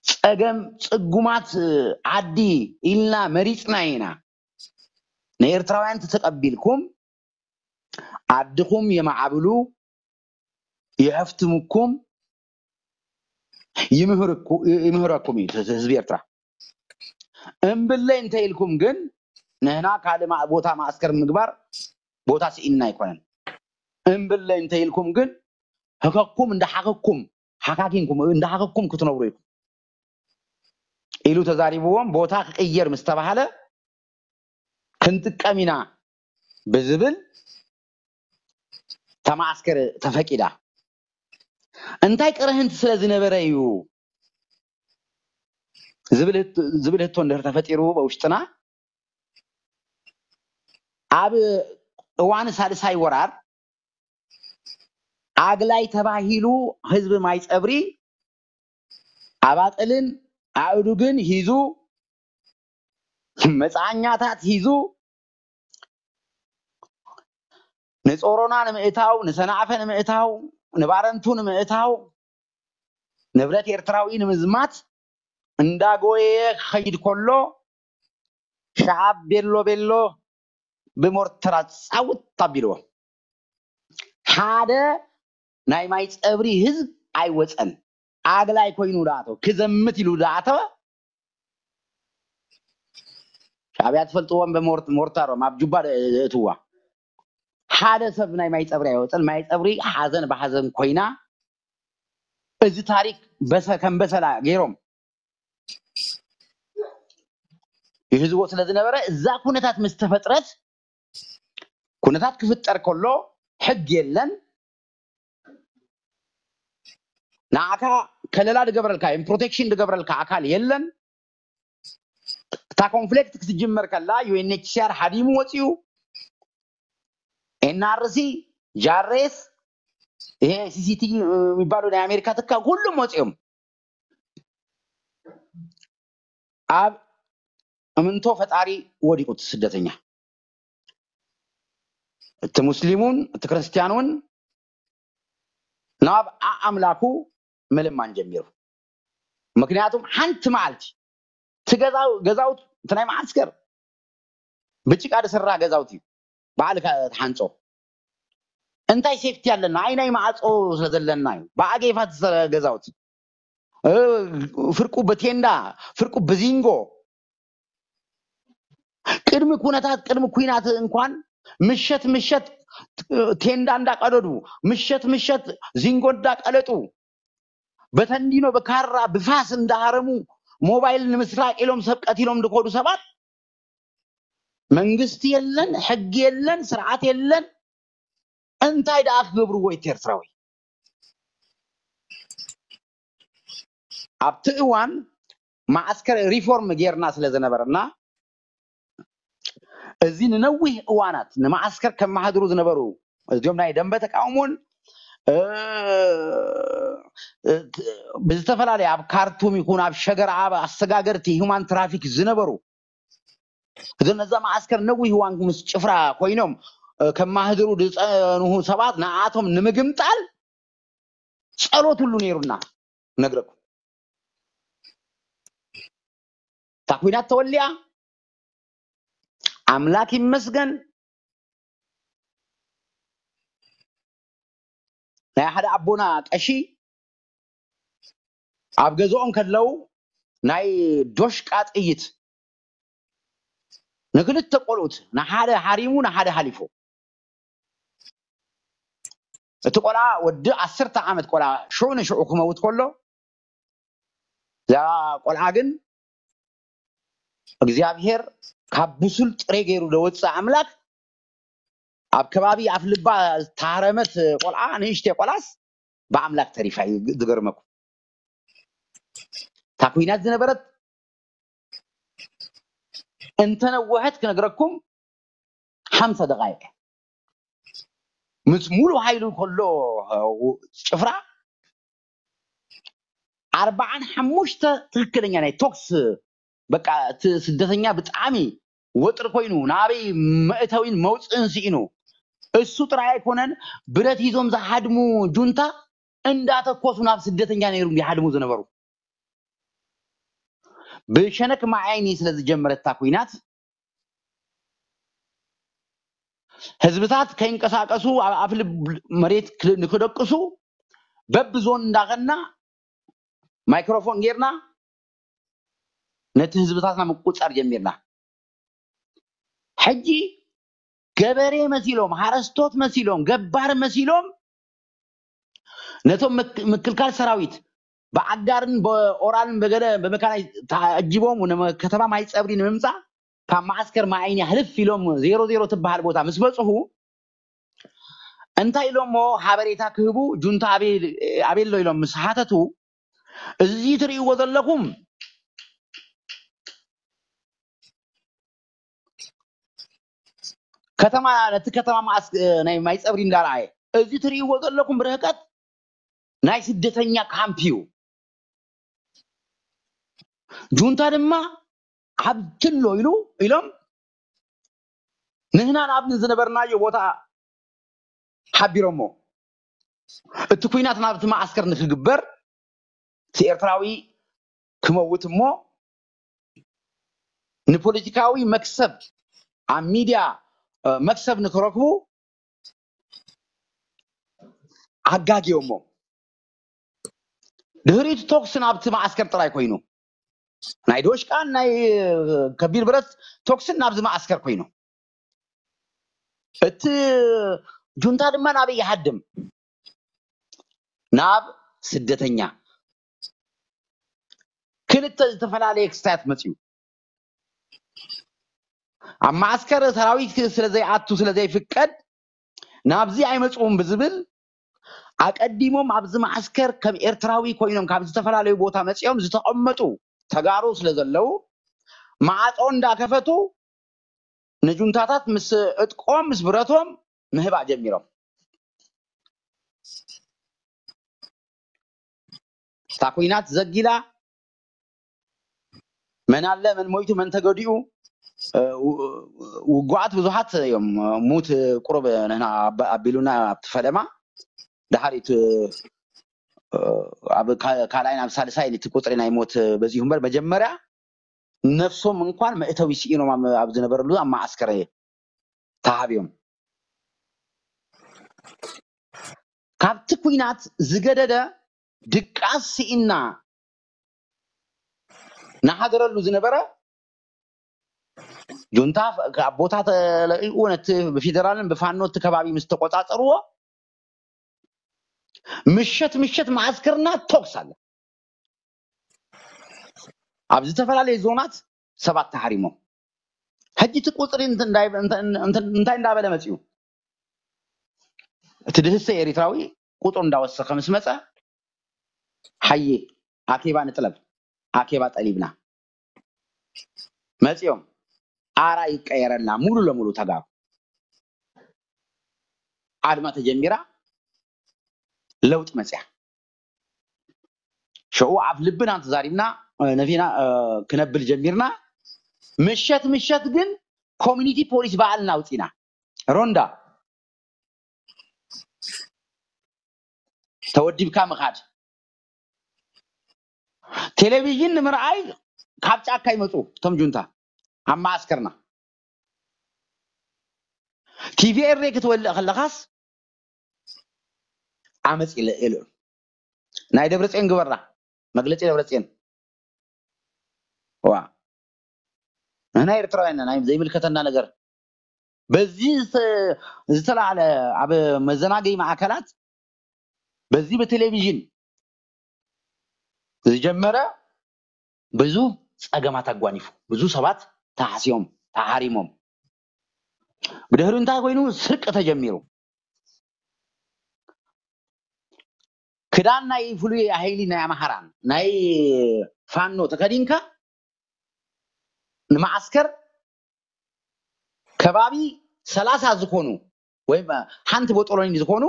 ፀገም ፅጉማት ዓዲ ኢልና መሪፅና ኢና። ንኤርትራውያን ተተቀቢልኩም ዓድኹም የማዕብሉ፣ የሀፍትምኩም፣ ይምህረኩም እዩ ህዝቢ ኤርትራ። እምብለይ እንተ ኢልኩም ግን ንህና ካልእ ቦታ ማእስከር ምግባር ቦታ ስኢንና ኣይኮነን። እምብለይ እንተ ኢልኩም ግን ህከኩም እንዳሓከኩም ሓካኪንኩም እንዳሓከኩም ክትነብሩ ኢኹም ኢሉ ተዛሪብዎም። ቦታ ክቅየር ምስ ተባሃለ ክንጥቀም ኢና ብዝብል ተማዓስከር ተፈቂዳ። እንታይ ቅርህንቲ ስለ ዝነበረ እዩ ዝብል ህቶ እንድሕር ተፈጢሩ በውሽጥና ኣብ እዋን ሳልሳይ ወራር ኣግላይ ተባሂሉ ህዝቢ ማይ ፀብሪ ኣባጥልን ኣእዱግን ሂዙ መፅዓኛታት ሂዙ ንፆሮና ንምእታው ንሰናዕፈ ንምእታው ንባረንቱ ንምእታው ንብረት ኤርትራዊ ንምዝማት እንዳጎየየ ክኸይድ ከሎ ሸዓብ ቤሎ ቤሎ ብሞርተራት ፃውት ኣቢልዎ። ሓደ ናይ ማይ ፀብሪ ህዝብ ኣይወፀን። ኣግላይ ኮይኑ ዳኣተወ ክዘምት ኢሉ ዳኣተወ ሻዕብያ ትፈልጥዎም ብሞርታሮም ኣብ ጁባ እትዋ ሓደ ሰብ ናይ ማይ ፀብሪ ኣይወፀን። ማይ ፀብሪ ሓዘን ብሓዘን ኮይና እዚ ታሪክ በሰ ከም በሰላ ገይሮም ይህዝዎ ስለ ዝነበረ፣ እዛ ኩነታት ምስ ተፈጥረት፣ ኩነታት ክፍጠር ከሎ ሕግ የለን፣ ንዓካ ከለላ ዝገብረልካ ፕሮቴክሽን ዝገብረልካ ኣካል የለን። እታ ኮንፍሊክት ክትጅመር ከላ ዩ ኤን ኤች ሲ ኣር ሓዲሙ ወፂኡ፣ ኤን ኣር ሲ፣ ጃሬስ፣ ይሄ ሲ ሲ ቲ ቪ የሚባሉ ናይ ኣሜሪካ ትካ ኩሉም ወፂኦም። ኣብ እምንቶ ፈጣሪ ወዲቁ እቲ ስደተኛ፣ እቲ ሙስሊም እውን እቲ ክርስትያን እውን ናብ ኣምላኩ ምልማን ጀሚሩ። ምክንያቱም ሓንቲ መዓልቲ እቲ ገዛው- ገዛውት እቲ ናይ መዓስከር ብጭቃ ዝስራ ገዛውት እዩ፣ ባዕልካ ትሓንጾ። እንታይ ሴፍቲ ኣለና? ኣይ ናይ ማዕጾ ስለ ዘለና እዩ፣ ብኣጌፋ ዝሰራ ገዛውት፣ እ፣ ፍርቁ ብቴንዳ፣ ፍርቁ ብዚንጎ። ቅድሚ ኩነታት፣ ቅድሚ ኩናት እንኳን ምሸት ምሸት ቴንዳ እንዳቀደዱ፣ ምሸት ምሸት ዚንጎ እንዳቀለጡ፣ በተንዲኖ ብካራ ብፋስ እንዳሃረሙ ሞባይል ንምስራቅ ኢሎም ሰብ ቀቲሎም ዝኮዱ ሰባት፣ መንግስቲ የለን፣ ሕጊ የለን፣ ስርዓት የለን። እንታይ ደኣ ክገብርዎ እቲ ኤርትራዊ? ኣብቲ እዋን ማዓስከር ሪፎርም ጌርና ስለ ዝነበረና፣ እዚ ንነዊህ እዋናት ንማዓስከር ከመሓድሩ ዝነበሩ፣ እዚኦም ናይ ደንበ ተቃውሞን፣ እ፣ እ፣ ብዝተፈላለየ ኣብ ካርቱም ይኹን ኣብ ሸገር ኣብ ኣሰጋገርቲ ሁማን ትራፊክ ዝነበሩ፣ እዞም ነዛ ማዓስከር ነዊህ እዋን ምስ ጭፍራ ኮይኖም፣ እ፣ ከማህድሩ ዝጸንሁ ሰባት ንኣቶም ንምግምጣል ጸሎት ሁሉ ነይሩና። ነግረኩም። እታ ኩናት ተወሊኣ፣ ኣምላክ ይመስገን። ናይ ሓደ ኣቦና ቀሺ ኣብ ገዝኦም ከለዉ ናይ ዶሽቃ ጥይት ንክልተ ቆልኡት፣ ንሓደ ሃሪሙ፣ ንሓደ ሃሊፉ። እቲ ቆልዓ ወዲ ዓሰርተ ዓመት ቆልዓ ሽዑ ንሽዑ ክመውት ከሎ፣ እዛ ቆልዓ ግን እግዚኣብሔር ካብ ብሱል ጥሬ ገይሩ ዘወፅእ ኣምላክ፣ ኣብ ከባቢ ኣፍ ልባ ዝተሃረመት ቆልዓ፣ ንእሽተይ ቆልዓስ ብኣምላክ ተሪፋ እዩ። ዝገርመኩም፣ እታ ኩናት ዝነበረት እንተነወሐት ክነግረኩም ሓምሳ ደቃይቅ ምስ ሙሉ ሃይሉ ከሎ ጭፍራ ኣርባዓን ሓሙሽተ ትክክለኛ ናይ ቶክስ፣ በቃ እቲ ስደተኛ ብጣዕሚ ወጥሪ ኮይኑ ናበይ መእተዊን መውፅእን ስኢኑ፣ እሱ ጥራይ ኣይኮነን፣ ብረት ሂዞም ዝሃድሙ ጁንታ እንዳተኮሱ ናብ ስደተኛ ነይሩ ይሃድሙ ዝነበሩ። ብሸነክ ማዓይኒ ስለ ዝጀመረታ ኩናት፣ ህዝብታት ከይንቀሳቀሱ ኣብ ኣፍልብ መሬት ክ- ንክደቅሱ በብዞን እንዳኸና ማይክሮፎን ጌርና ነቲ ህዝብታትና ምቁፃር ጀሚርና። ሕጂ ገበሬ መሲሎም፣ ሓረስቶት መሲሎም፣ ገባር መሲሎም ነቶም ምክ- ምክልካል ሰራዊት ብኣጋርን ብኦራልን ብገለ ብመካናይ ተዓጂቦም ንመ- ከተማ ማይ ፀብሪ ንምምፃእ ካብ ማዓስከር ማዓይኒ ሕልፍ ኢሎም ዜሮ ዜሮ ትበሃል ቦታ ምስ በፅሑ፣ እንታይ ኢሎሞ ሓበሬታ ክህቡ፣ ጁንታ ኣበይ ኣሎ ኢሎም ምስ ሓተቱ፣ እዚ ትርእይዎ ዘለኹም ከተማ፣ ነቲ ከተማ ማዓስ ናይ ማይ ፀብሪ እንዳረኣየ፣ እዚ ትርእይዎ ዘለኹም ብርህቀት ናይ ስደተኛ ካምፕ እዩ። ጁንታ ድማ ኣብቲ ኣሎ ኢሉ ኢሎም ንህና ናብ ዝነበርናዮ ቦታ ሓቢሮሞ፣ እቲ ኩናት ናብቲ ማዓስከር ንክግበር፣ እቲ ኤርትራዊ ክመውት እሞ ንፖለቲካዊ መክሰብ ኣብ ሚድያ፣ እ፣ መክሰብ ንክረክቡ ኣጋጊዮሞ። ድሕሪኡ ቶክስ ናብቲ ማዓስከር ጥራይ ኮይኑ፣ ናይ ዶሽቃን ናይ ከቢድ ብረት ቶክስን ናብዚ ማዓስከር ኮይኑ፣ እቲ ጁንታ ድማ ናበይ ይሃድም? ናብ ስደተኛ። ክልተ ዝተፈላለየ ክስታያት መፅዩ። ኣብ ማዓስከር ሰራዊት ስለ ዘይኣቱ ስለ ዘይፍቀድ ናብዚ ኣይመፅኡን ብዝብል ኣቀዲሞም ኣብዚ ማዓስከር ከም ኤርትራዊ ኮይኖም ካብ ዝተፈላለዩ ቦታ መፂኦም ዝተቐመጡ ተጋሩ ስለ ዘለዉ ማዓፆ እንዳከፈቱ ንጁንታታት ምስ ዕጥቆም ምስ ብረቶም ምህባእ ጀሚሮም። እታ ኩናት ዘጊላ መን ኣለ መን ሞይቱ መን ተገዲኡ ውጉዓት ብዙሓት እዮም። ሙት ቁሩብ ንሕና ኣቢሉና ኣብቲ ፈለማ ድሓር እቲ ኣብ ካልኣይን ኣብ ሳልሳይን እቲ ቁፅሪ ናይ ሞት በዚሁ እምበር መጀመርያ ነፍሶም እንኳን መእተዊ ስኢኖም ኣብ ዝነበረሉ ኣብ ማዓስከር ተሃብዮም። ካብቲ ኩናት ዝገደደ ድቃስ ስኢና ናሓደረሉ ዝነበረ ጁንታ ካብ ቦታ ተለቂቁ ነቲ ብፌደራልን ብፋኖ እቲ ከባቢ ምስ ተቆፃፀርዎ ምሸት ምሸት ማዓስከርና ተኩስ ኣለ። ኣብ ዝተፈላለዩ ዞናት ሰባት ተሃሪሞም። ሕጂ እቲ ቁፅሪ እንታይ እንዳበለ መፅዩ? እቲ ድህሰ ኤሪትራዊ ቁፅሩ እንዳወሰኸ ምስ መፀ ሓየ ኣኬባ ንጥለብ ኣኬባ ጠሊብና መፅዮም ኣራ ይቀየረልና ሙሉ ለሙሉ ተጋሩ ኣድማ ተጀሚራ ለውጥ መፅያ ሽዑ ኣብ ልብና ተዛሪብና ነፊና ክነብል ጀሚርና ምሸት ምሸት ግን ኮሚኒቲ ፖሊስ ባዕልና ኣውፂና ሮንዳ ተወዲብካ ምኻድ ቴሌቪዥን ንምርኣይ ካብ ጫካ ይመፁ እቶም ጁንታ ኣብ ማዓስከርና ቲቪ ኤሬ ክትወልእ ከለኻስ ዓመፅ ይልዑ ናይ ደብረፅዮን ግበራ መግለፂ ደብረፅዮን ዋ ንሕና ኤርትራውያን ናይ ዘይምልከተና ነገር በዚ ዝተላዕለ ኣብ መዘናገይ ማዕከላት በዚ ብቴሌቪዥን ዝጀመረ ብዙ ፀገማት ኣጓኒፉ ብዙ ሰባት ተሓስዮም ተሃሪሞም ብድሕሪ እንታይ ኮይኑ ስርቂ ተጀሚሩ ክዳን ናይ ፍሉይ ሃይሊ ናይ ኣምሓራን ናይ ፋኖ ተከዲንካ ንማዓስከር ከባቢ ሰላሳ ዝኾኑ ወይ ሓንቲ ቦጦሎኒ ዝኾኑ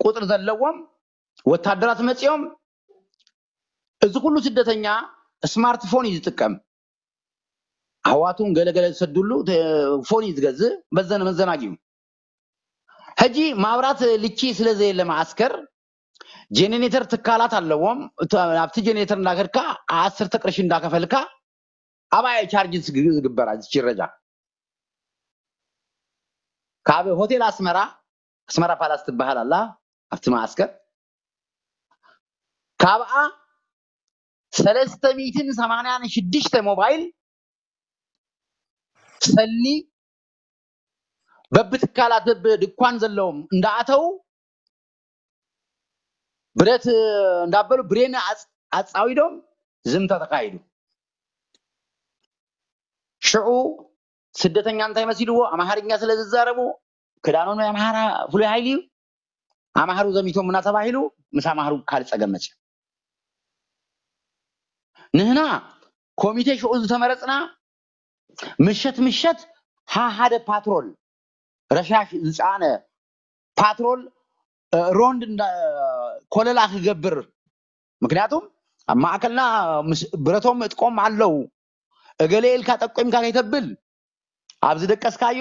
ቁፅሪ ዘለዎም ወታደራት መፂኦም እዚ ኩሉ ስደተኛ ስማርትፎን እዩ ዝጥቀም ኣሕዋቱን ገለገለ ዝሰድሉ ፎን እዩ ዝገዝእ በዘነ መዘናጊኡ ሕጂ ማብራት ልቺ ስለ ዘየለ ማዓስከር ጀኔሬተር ትካላት ኣለዎም ኣብቲ ጀኔሬተር እንዳከድካ ዓሰርተ ቅርሺ እንዳከፈልካ ኣባየ ቻርጅ ዝግበራ ዝችረጃ ካብ ሆቴል ኣስመራ ኣስመራ ፓላስ ትበሃል ኣላ ኣብቲ ማዓስከር ካብኣ ሰለስተ ሚእትን ሰማንያን ሽዱሽተ ሞባይል ሰልኒ በብትካላት በብድኳን ዘለዎም እንዳኣተው ብረት እንዳበሉ ብሬን ኣፃዊዶም ዝምታ ተካይዱ ሽዑ ስደተኛ እንታይ መሲልዎ ኣምሃርኛ ስለ ዝዛረቡ ክዳኖም ናይ ኣምሃራ ፍሉይ ሓይሊ እዩ ኣምሃሩ ዘሚቶም እና ተባሂሉ ምስ ኣምሃሩ ካልእ ፀገም መፅዩ ንህና ኮሚቴ ሽዑ ዝተመረፅና ምሸት ምሸት ሓደ ፓትሮል ረሻሽ ዝፀዓነ ፓትሮል ሮንድ ኮለላ ክገብር ምክንያቱም ኣብ ማእከልና ብረቶም እጥቆም ኣለዉ እገለ ኢልካ ጠቆምካ ከይተብል ኣብ ዝደቀስካዮ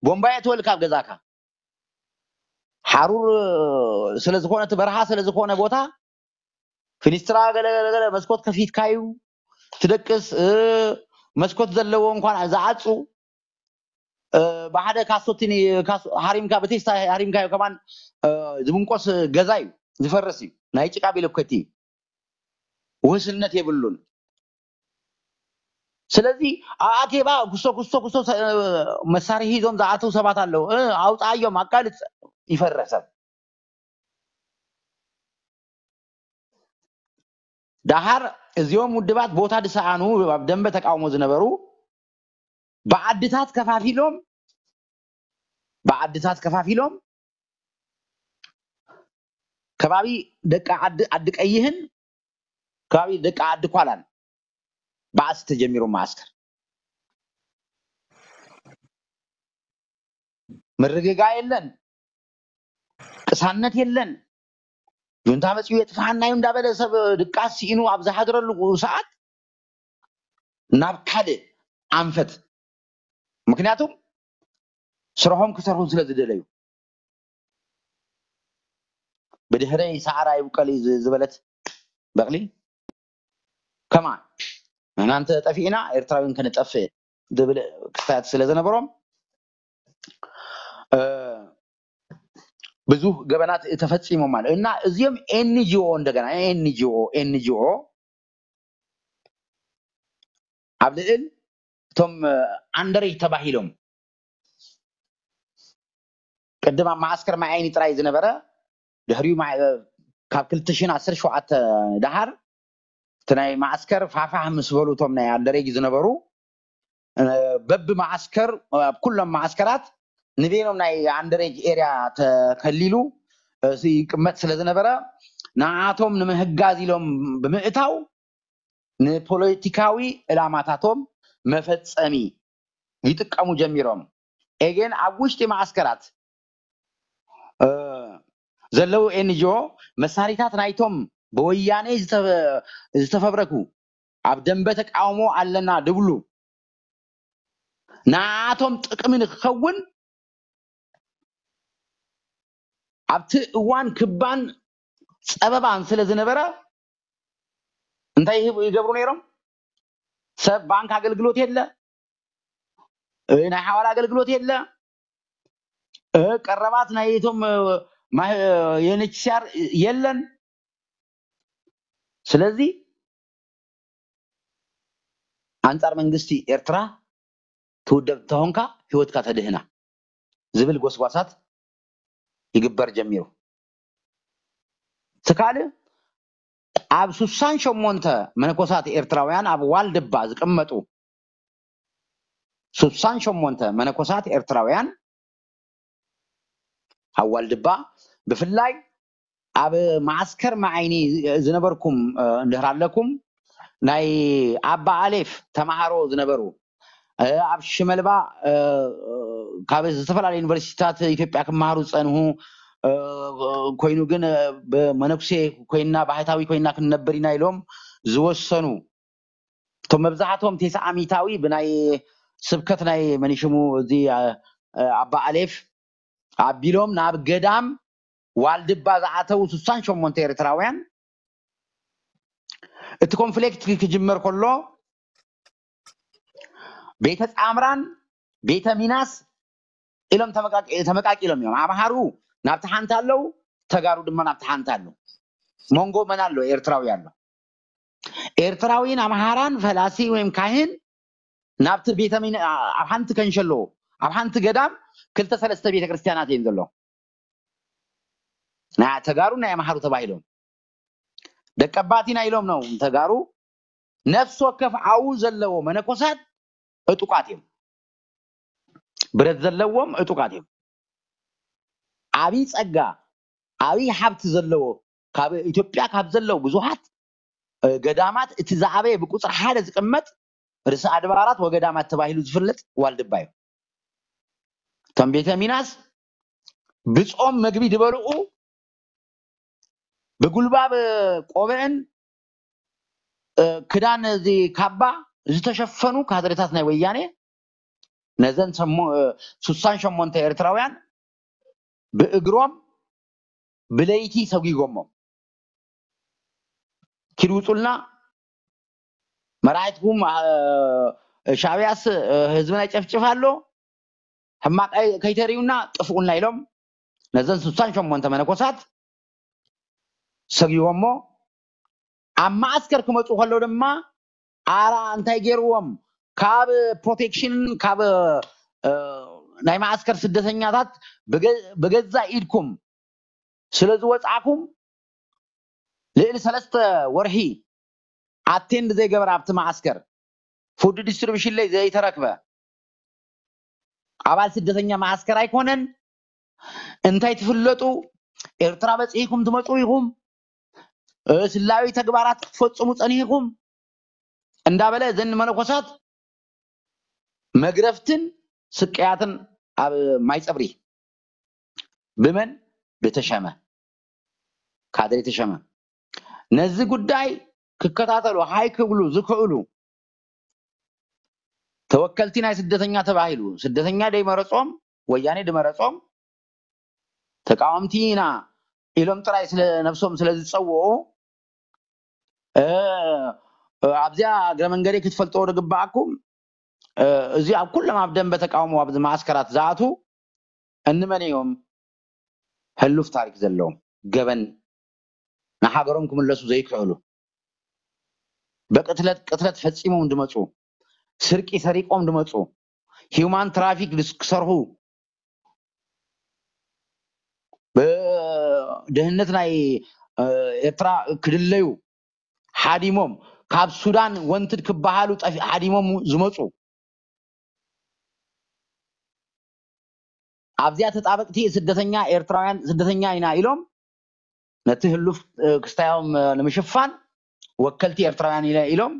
ቦምባ የእትወልካ ኣብ ገዛካ ሓሩር ስለዝኾነ እቲ በረሃ ስለዝኾነ ቦታ ፊኒስትራ ገለገለ መስኮት ከፊትካ እዩ ትደቅስ መስኮት ዘለዎ እንኳን ዝዓፁ ብሓደ ካሶቲኒ ሃሪምካ ብቴስታ ሃሪምካዮ ከማን ዝብንቆስ ገዛ እዩ ዝፈርስ እዩ ናይ ጭቃ ቢለኮቲ እዩ ውህስነት የብሉን ስለዚ ኣኬባ ክሶ ክሶ ክሶ መሳርሒ ሂዞም ዝኣተው ሰባት ኣለዉ ኣውፃዮም ኣቃልፅ ይፈረሰብ ደሓር እዚኦም ውድባት ቦታ ዝሰኣኑ ኣብ ደንበ ተቃውሞ ዝነበሩ ብዓድታት ከፋፊሎም ብዓድታት ከፋፊሎም ከባቢ ደቂ ዓዲ ዓዲ ቀይህን ከባቢ ደቂ ዓዲ ኳላን ባእሲ ተጀሚሩ። መዓስከር ምርግጋ የለን፣ ቅሳነት የለን። ጁንታ መፅኡ የጥፍሓና እዩ እንዳበለ ሰብ ድቃስ ስኢኑ ኣብ ዝሓድረሉ ሰዓት ናብ ካልእ ኣንፈት፣ ምክንያቱም ስርሖም ክሰርሑ ስለ ዝደለዩ። ብድሕረይ ሰዓራ ይብቀል እዩ ዝ- ዝበለት በቕሊ ከማን ንሕና እንተ ጠፊእና ኤርትራውያን ክንጠፍእ ዝብል ክስታት ስለ ዝነበሮም ብዙ ገበናት ተፈፂሞም ማለት እና እዚኦም ኤንጂኦ እንደገና ኤንጂኦ ኤንጂኦ ኣብ ልዕል እቶም ኣንደሬጅ ተባሂሎም ቅድም ኣብ መዓስከር ማይ ዓይኒ ጥራይ ዝነበረ ድሕሪኡ ካብ ክልተ ሽሕን ዓሰርተ ሸውዓተ ደሃር እቲ ናይ መዓስከር ፋፋህ ምስ በሉ እቶም ናይ ኣንደሬጅ ዝነበሩ በቢ መዓስከር ኣብ ኩሎም መዓስከራት ንቤኖም ናይ ኣንደሬጅ ኤርያ ተከሊሉ ይቅመጥ ስለ ዝነበረ ንዓቶም ንምህጋዝ ኢሎም ብምእታው ንፖለቲካዊ ዕላማታቶም መፈጸሚ ይጥቀሙ ጀሚሮም። ኤጌን ኣብ ውሽጢ መዓስከራት ዘለዉ ኤንጂኦ መሳሪታት ናይቶም ብወያኔ ዝተፈብረኩ ኣብ ደንበ ተቃውሞ ኣለና ድብሉ ንዓቶም ጥቅሚ ንክኸውን ኣብቲ እዋን ክባን ፀበባን ስለ ዝነበረ እንታይ ይገብሩ ነይሮም? ሰብ ባንክ ኣገልግሎት የለ፣ ናይ ሓዋላ ኣገልግሎት የለ፣ ቀረባት ናይ እቶም የኤንኤችሲኣር የለን። ስለዚ ኣንጻር መንግስቲ ኤርትራ ትውደብ እንተኾንካ ህይወትካ ተድህና ዝብል ጎስጓሳት ይግበር ጀሚሩ። ትካል ኣብ ሱሳን ሸሞንተ መነኮሳት ኤርትራውያን ኣብ ዋልድባ ዝቅመጡ ሱሳን ሸሞንተ መነኮሳት ኤርትራውያን ኣብ ዋልድባ ብፍላይ ኣብ መዓስከር መዓይኒ ዝነበርኩም እንድሕር ኣለኩም ናይ ኣባ ኣሌፍ ተማሃሮ ዝነበሩ ኣብ ሽመልባ ካብ ዝተፈላለዩ ዩኒቨርሲቲታት ኢትዮጵያ ክመሃሩ ዝፀንሁ ኮይኑ ግን ብመነኩሴ ኮይና ባህታዊ ኮይና ክንነብር ኢና ኢሎም ዝወሰኑ እቶም መብዛሕቶም ቴስዓ ሚታዊ ብናይ ስብከት ናይ መኒሽሙ እዚ ኣባ ኣሌፍ ኣቢሎም ናብ ገዳም ዋልድባ ዝኣተው ስሳን ሸሞንተ ኤርትራውያን እቲ ኮንፍሊክት ክጅመር ከሎ ቤተ ጻምራን ቤተ ሚናስ ኢሎም ተመቃቂሎም እዮም። ኣምሃሩ ናብቲ ሓንቲ ኣለው፣ ተጋሩ ድማ ናብቲ ሓንቲ ኣለው። መንጎ መን ኣሎ? ኤርትራዊ ኣሎ። ኤርትራዊን ኣምሃራን ፈላሲ ወይም ካህን ናብቲ ቤተ ሚን ኣብ ሓንቲ ከንሸሎ ኣብ ሓንቲ ገዳም ክልተ ሰለስተ ቤተ ክርስቲያናት እዮም ዘሎ። ናይ ተጋሩ ናይ ኣምሃሩ ተባሂሎም ደቀባቲና ኢሎም ነው ተጋሩ ነፍሲ ወከፍ ዓው ዘለዎ መነኮሳት እጡቃት እዮም። ብረት ዘለዎም እጡቃት እዮም። ዓብይ ጸጋ ዓብይ ሓብቲ ዘለዎ ካብ ኢትዮጵያ ካብ ዘለዉ ብዙሓት ገዳማት እቲ ዝዓበየ ብቁፅሪ ሓደ ዝቅመጥ ርእሰ ኣድባራት ወገዳማት ተባሂሉ ዝፍለጥ ዋልድባ እዩ። እቶም ቤተ ሚናስ ብጾም መግቢ ዝበልዑ ብጉልባብ ቆብዕን ክዳን እዚ ካባ ዝተሸፈኑ ካድሬታት ናይ ወያኔ ነዘን ስሳን ሸሞንተ ኤርትራውያን ብእግሮም ብለይቲ ሰጒጎሞም ኪድ ውፁልና መራሒትኩም ሻዕብያስ ህዝብና ይጨፍጭፍ ኣሎ ሕማቕ ከይተርእዩና ጥፍኡና ኢሎም ነዘን ስሳን ሸሞንተ መነኮሳት ሰጊቦሞ ኣብ ማዓስከር ክመፁ ከለዉ ድማ ኣራ እንታይ ገይርዎም ካብ ፕሮቴክሽን ካብ ናይ ማዓስከር ስደተኛታት ብገዛ ኢድኩም ስለ ዝወፃዕኩም ልዕሊ ሰለስተ ወርሒ ኣቴንድ ዘይገበረ ኣብቲ መዓስከር፣ ፉድ ዲስትሪቢሽን ለይ ዘይተረክበ ኣባል ስደተኛ መዓስከር ኣይኮነን። እንታይ ትፍለጡ? ኤርትራ በፂሕኩም ትመፁ ኢኹም፣ ስላዊ ተግባራት ክትፈፅሙ ፀኒሕኩም እንዳበለ እዘን መነኮሳት መግረፍትን ስቅያትን ኣብ ማይ ፀብሪ ብመን? ብተሸመ፣ ካድሬ ተሸመ። ነዚ ጉዳይ ክከታተሉ ሃይ ክብሉ ዝክእሉ ተወከልቲ ናይ ስደተኛ ተባሂሉ፣ ስደተኛ ደይመረጾም፣ ወያኔ ድመረጾም፣ ተቃወምቲ ኢና ኢሎም ጥራይ ስለ ነብሶም ስለ ዝጸውዑ፣ ኣብዚኣ እግረ መንገደይ ክትፈልጥዎ ዝግበኣኩም፣ እዚ ኣብ ኩሎም ኣብ ደንበ ተቃውሞ ኣብዚ መዓስከራት ዝኣትዉ እንመን እዮም? ሕሉፍ ታሪክ ዘለዎም፣ ገበን ንሃገሮም ክምለሱ ዘይክእሉ፣ ብቅትለት ቅትለት ፈፂሞም ዝመፁ፣ ስርቂ ሰሪቆም ዝመፁ፣ ሂውማን ትራፊክ ክሰርሑ፣ ብድህነት ናይ ኤርትራ ክድለዩ ሓዲሞም፣ ካብ ሱዳን ወንትድ ክበሃሉ ሓዲሞም ዝመፁ፣ ኣብዚኣ ተጣበቅቲ ስደተኛ ኤርትራውያን ስደተኛ ኢና ኢሎም ነቲ ህሉፍ ክስታዮም ንምሽፋን ወከልቲ ኤርትራውያን ኢሎም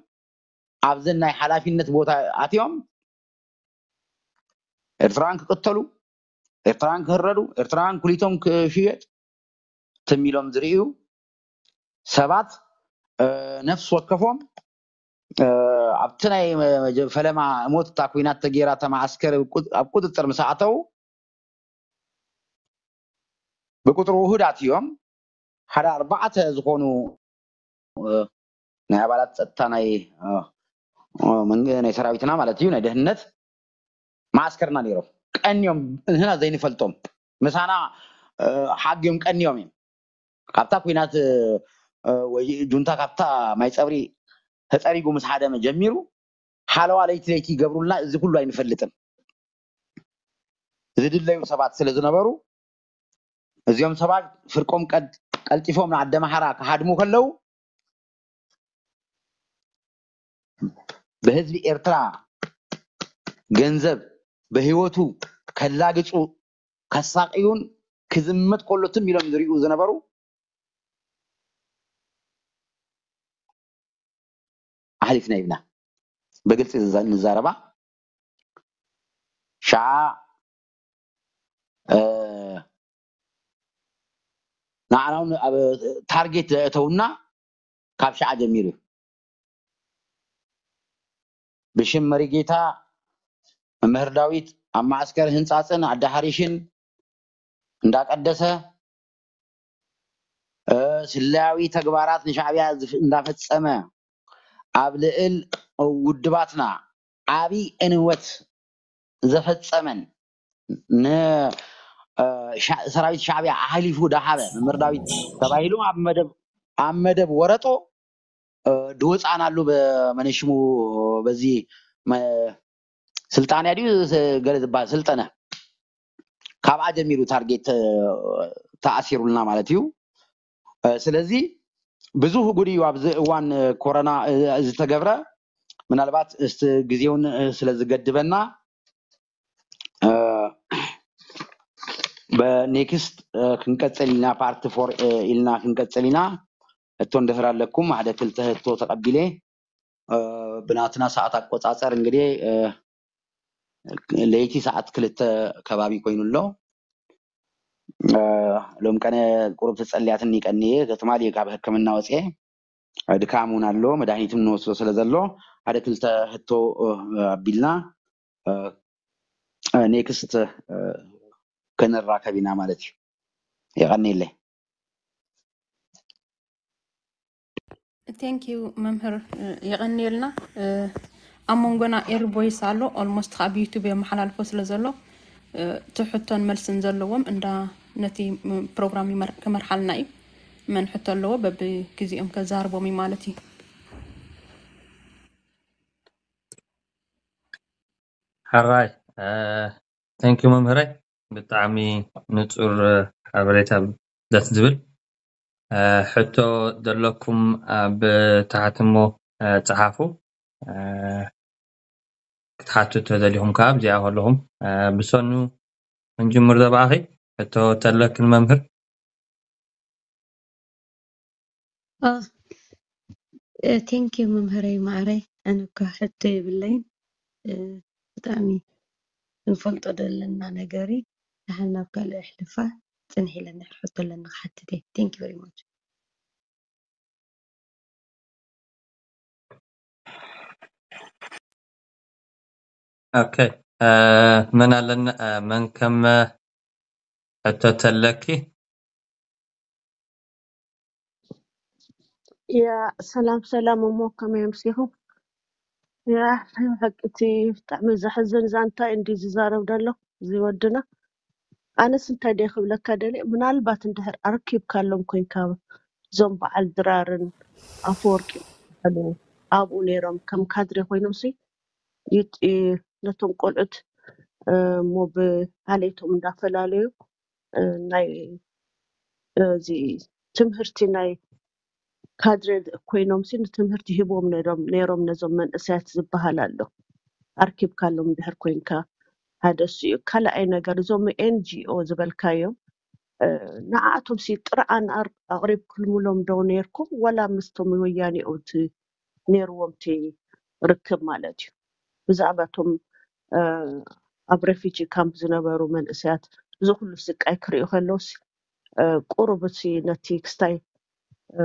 ኣብዘን ናይ ሓላፊነት ቦታ ኣትዮም ኤርትራውያን ክቅተሉ፣ ኤርትራውያን ክህረዱ፣ ኤርትራውያን ኩሊቶም ክሽየጥ ትም ኢሎም ዝርእዩ ሰባት ነፍሲ ወከፎም ኣብቲ ናይ ፈለማ ሞት እታ ኩናት ተገይራ እታ መዓስከር ኣብ ቁፅፅር ምስ ኣተዉ ብቁፅሪ ውሁዳት እዮም። ሓደ ኣርባዕተ ዝኾኑ ናይ ኣባላት ፀጥታ ናይ ናይ ሰራዊትና ማለት እዩ ናይ ደህንነት መዓስከርና ነይሮም ቀንዮም ንህና ዘይንፈልጦም ምሳና ሓግዮም ቀንዮም እዮም። ካብታ ኩናት ወይ ጁንታ ካብታ ማይ ፀብሪ ተፀሪጉ ምስ ሓደመ ጀሚሩ ሓለዋ ለይቲ ለይቲ ይገብሩልና። እዚ ኩሉ ኣይንፈልጥን። ዝድለዩ ሰባት ስለ ዝነበሩ እዚኦም ሰባት ፍርቆም ቀልጢፎም ንኣደመሓራ ክሃድሙ ከለዉ ብህዝቢ ኤርትራ ገንዘብ ብህይወቱ ከላግፁ ከሳቅዩን ክዝመት ከሎ ትም ኢሎም ዝሪኡ ዝነበሩ ኣሕሊፍና ይብና ብግልፂ ንዛረባ ሸዓ ንዓና እውን ኣብ ታርጌት ዘእተውና ካብ ሸዓ ጀሚሩ እዩ። ብሽም መሪጌታ መምህር ዳዊት ኣብ ማዕስከር ህንጻጽን ኣዳሃሪሽን እንዳቀደሰ ስለያዊ ተግባራት ንሻዕብያ እንዳፈጸመ ኣብ ልእል ውድባትና ዓቢ እንወት ዘፈጸመን ንሰራዊት ሻዕብያ ኣሕሊፉ ዳሃበ መምህር ዳዊት ተባሂሉ ኣብ መደብ ወረጦ ድወፃናሉ በመነሽሙ በዚ ስልጣንያ ድዩ ገለ ዝበሃል ስልጠነ ካብኣ ጀሚሩ ታርጌት ተኣሲሩልና ማለት እዩ። ስለዚ ብዙ ጉድ እዩ ኣብዚ እዋን ኮረና ዝተገብረ። ምናልባት እስቲ ግዜውን ስለዝገድበና በኔክስት ክንቀፅል ኢና ፓርት ፎር ኢልና ክንቀፅል ኢና። እቶ እንድሕር ኣለኩም ሓደ ክልተ ህቶ ተቐቢለ ብናትና ሰዓት ኣቆፃፀር እንግዲህ ለይቲ ሰዓት ክልተ ከባቢ ኮይኑ ኣሎ። ሎም ቀነ ቁሩብ ተፀልያትኒ ቀንየ ትማሊ ካብ ሕክምና ወፅየ ድካም እውን ኣሎ መድሃኒትም ንወስዶ ስለ ዘሎ ሓደ ክልተ ህቶ ኣቢልና ኔክስት ክንራከብ ኢና ማለት እዩ። የቀኒለይ። Thank you መምህር የቀንየልና። ኣብ መንጎና ኤር ቮይስ ኣሎ ኦልሞስት ካብ ዩቱብ የመሓላልፎ ስለ ዘሎ ትሕቶን መልስን ዘለዎም እንዳ ነቲ ፕሮግራም ክመርሓልና እዩ። መን ሕቶ ኣለዎ በብግዜኦም ከዛርቦም እዩ ማለት እዩ። ሕራይ thank you መምህረይ ብጣዕሚ ንፁር ሓበሬታ ደስ ዝብል ሕቶ ዘለኩም ኣብ ታሕቲ እሞ እ፣ ጸሓፉ። እ፣ ክትሓቱ ተደሊኹም ከኣ ኣብዚኣ ከለኹም፣ እ፣ ብሰኑ ክንጅምር ዘባእኺ ሕቶ ተለክን መምህር። ኦ፣ እ፣ ቴንኪዩ መምህረይ ማዕረይ። ኣነ እኳ ሕቶ የብለይን። እ፣ ብጣዕሚ ክንፈልጦ ዘለና ነገር እዩ። ደሓን ናብ ካልእ ኣሕልፋ። ጽንሕ ኢለ እንድሕር ሕቶ ኣለኒ ክሓትት እየ። Thank you very much። ኦኬ፣ እ፣ መን ኣለና? እ፣ መን ከም፣ እ፣ ሕቶ ተለኪ? ያ ሰላም ሰላም፣ እሞ ከመይ ኣምሲኹም? ያ ናይ ብሓቂ እቲ ብጣዕሚ ዘሕዝን ዛንታ እዩ እንዲ ዝዛረብ ዘሎ እዚ ወድና። ኣነስ እንታይ ደይ ክብለካ ደልየ፣ ምናልባት እንድሕር ኣርኪብካሎም ኮይንካ እዞም በዓል ድራርን ኣፈወርቂ ዝበሃሉ ኣብኡ ነይሮም ከም ካድሬ ኮይኖም ሲ ይጥ- ይ- ነቶም ቆልዑት እ፣ እሞ ብዓሌቶም እንዳፈላለዩ እ፣ ናይ እዚ ትምህርቲ ናይ ካድሬ ኮይኖም ሲ ንትምህርቲ ሂቦም ነይሮም ነይሮም ነዞም መንእሰያት ዝበሃል ኣሎ። ኣርኪብካሎም እንድሕር ኮይንካ ሓደ እሱ እዩ። ካልኣይ ነገር እዞም ኤንጂኦ ዝበልካዮም እ፣ ንዓኣቶም ሲ ጥርዓን ኣር- ኣቕሪብኩልምሎም ዶ ነይርኩም ወላ ምስቶም ወያኔ ኦት ነይርዎም እቲ ርክብ ማለት እዩ። ብዛዕባ እቶም እ፣ ኣብ ሬፊጂ ካምፕ ዝነበሩ መንእሰያት እዚ ኩሉ ስቃይ ክርእዩ ከለውስ እ፣ ቁሩብ እቲ ነቲ ክስታይ እ፣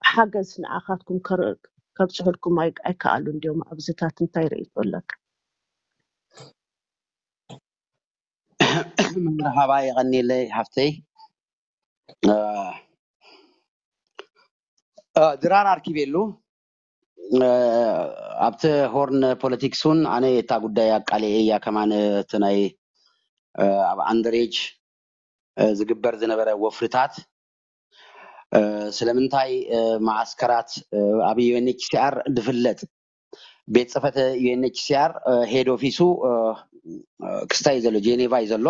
ሓገዝ ንዓኻትኩም ከር- ከብፅሑልኩም ኣይ- ኣይከኣሉን ድዮም? ኣብዚታት እንታይ ርእይቶ ኣለካ? መርሓባ፣ የቐንየለይ ሓፍተይ። እ፣ እ፣ ድራር ኣርኪበሉ። እ፣ ኣብቲ ሆርን ፖለቲክስ እውን ኣነ እታ ጉዳይ ኣቃሊዐ እያ ከማን፣ እቲ ናይ እ፣ ኣብ ኣንደሬጅ እ፣ ዝግበር ዝነበረ ወፍርታት እ፣ ስለምንታይ እ፣ መዓስከራት እ፣ ኣብ ዩኤንኤችሲኣር ዝፍለጥ ቤት ጽሕፈት ዩኤንኤችሲኣር ሄድ ኦፊሱ እ፣ እ፣ ክስታይ እዩ ዘሎ፣ ጄኔቫ እዩ ዘሎ።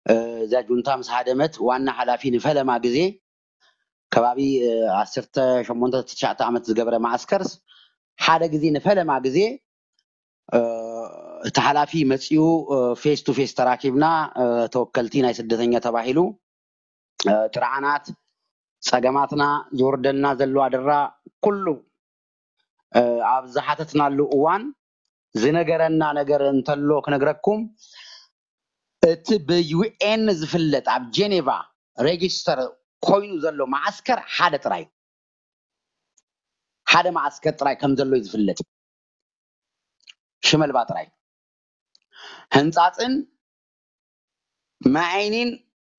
እ፣ እዛ ጁንታ ምስ ሃደመት ዋና ሓላፊ ንፈለማ ግዜ ከባቢ እ፣ ዓሰርተ ሸሞንተ ትሽዓተ ዓመት ዝገበረ መዓስከርስ ሓደ ግዜ ንፈለማ ግዜ እ፣ እቲ ሓላፊ መፂኡ ፌስ ቱ ፌስ ተራኪብና እ፣ ተወከልቲ ናይ ስደተኛ ተባሂሉ እ፣ ጥርዓናት ጸገማትና ዝወርደልና ዘሎ ኣደራ ኩሉ እ፣ ኣብ ዝሓተትናሉ እዋን ዝነገረና ነገር እንተሎ ክነግረኩም፣ እቲ ብዩኤን ዝፍለጥ ኣብ ጄኔቫ ሬጅስተር ኮይኑ ዘሎ መዓስከር ሓደ ጥራይ፣ ሓደ መዓስከር ጥራይ ከም ዘሎ እዩ ዝፍለጥ። ሽመልባ ጥራይ። ህንጻጽን ማይ ዓይኒን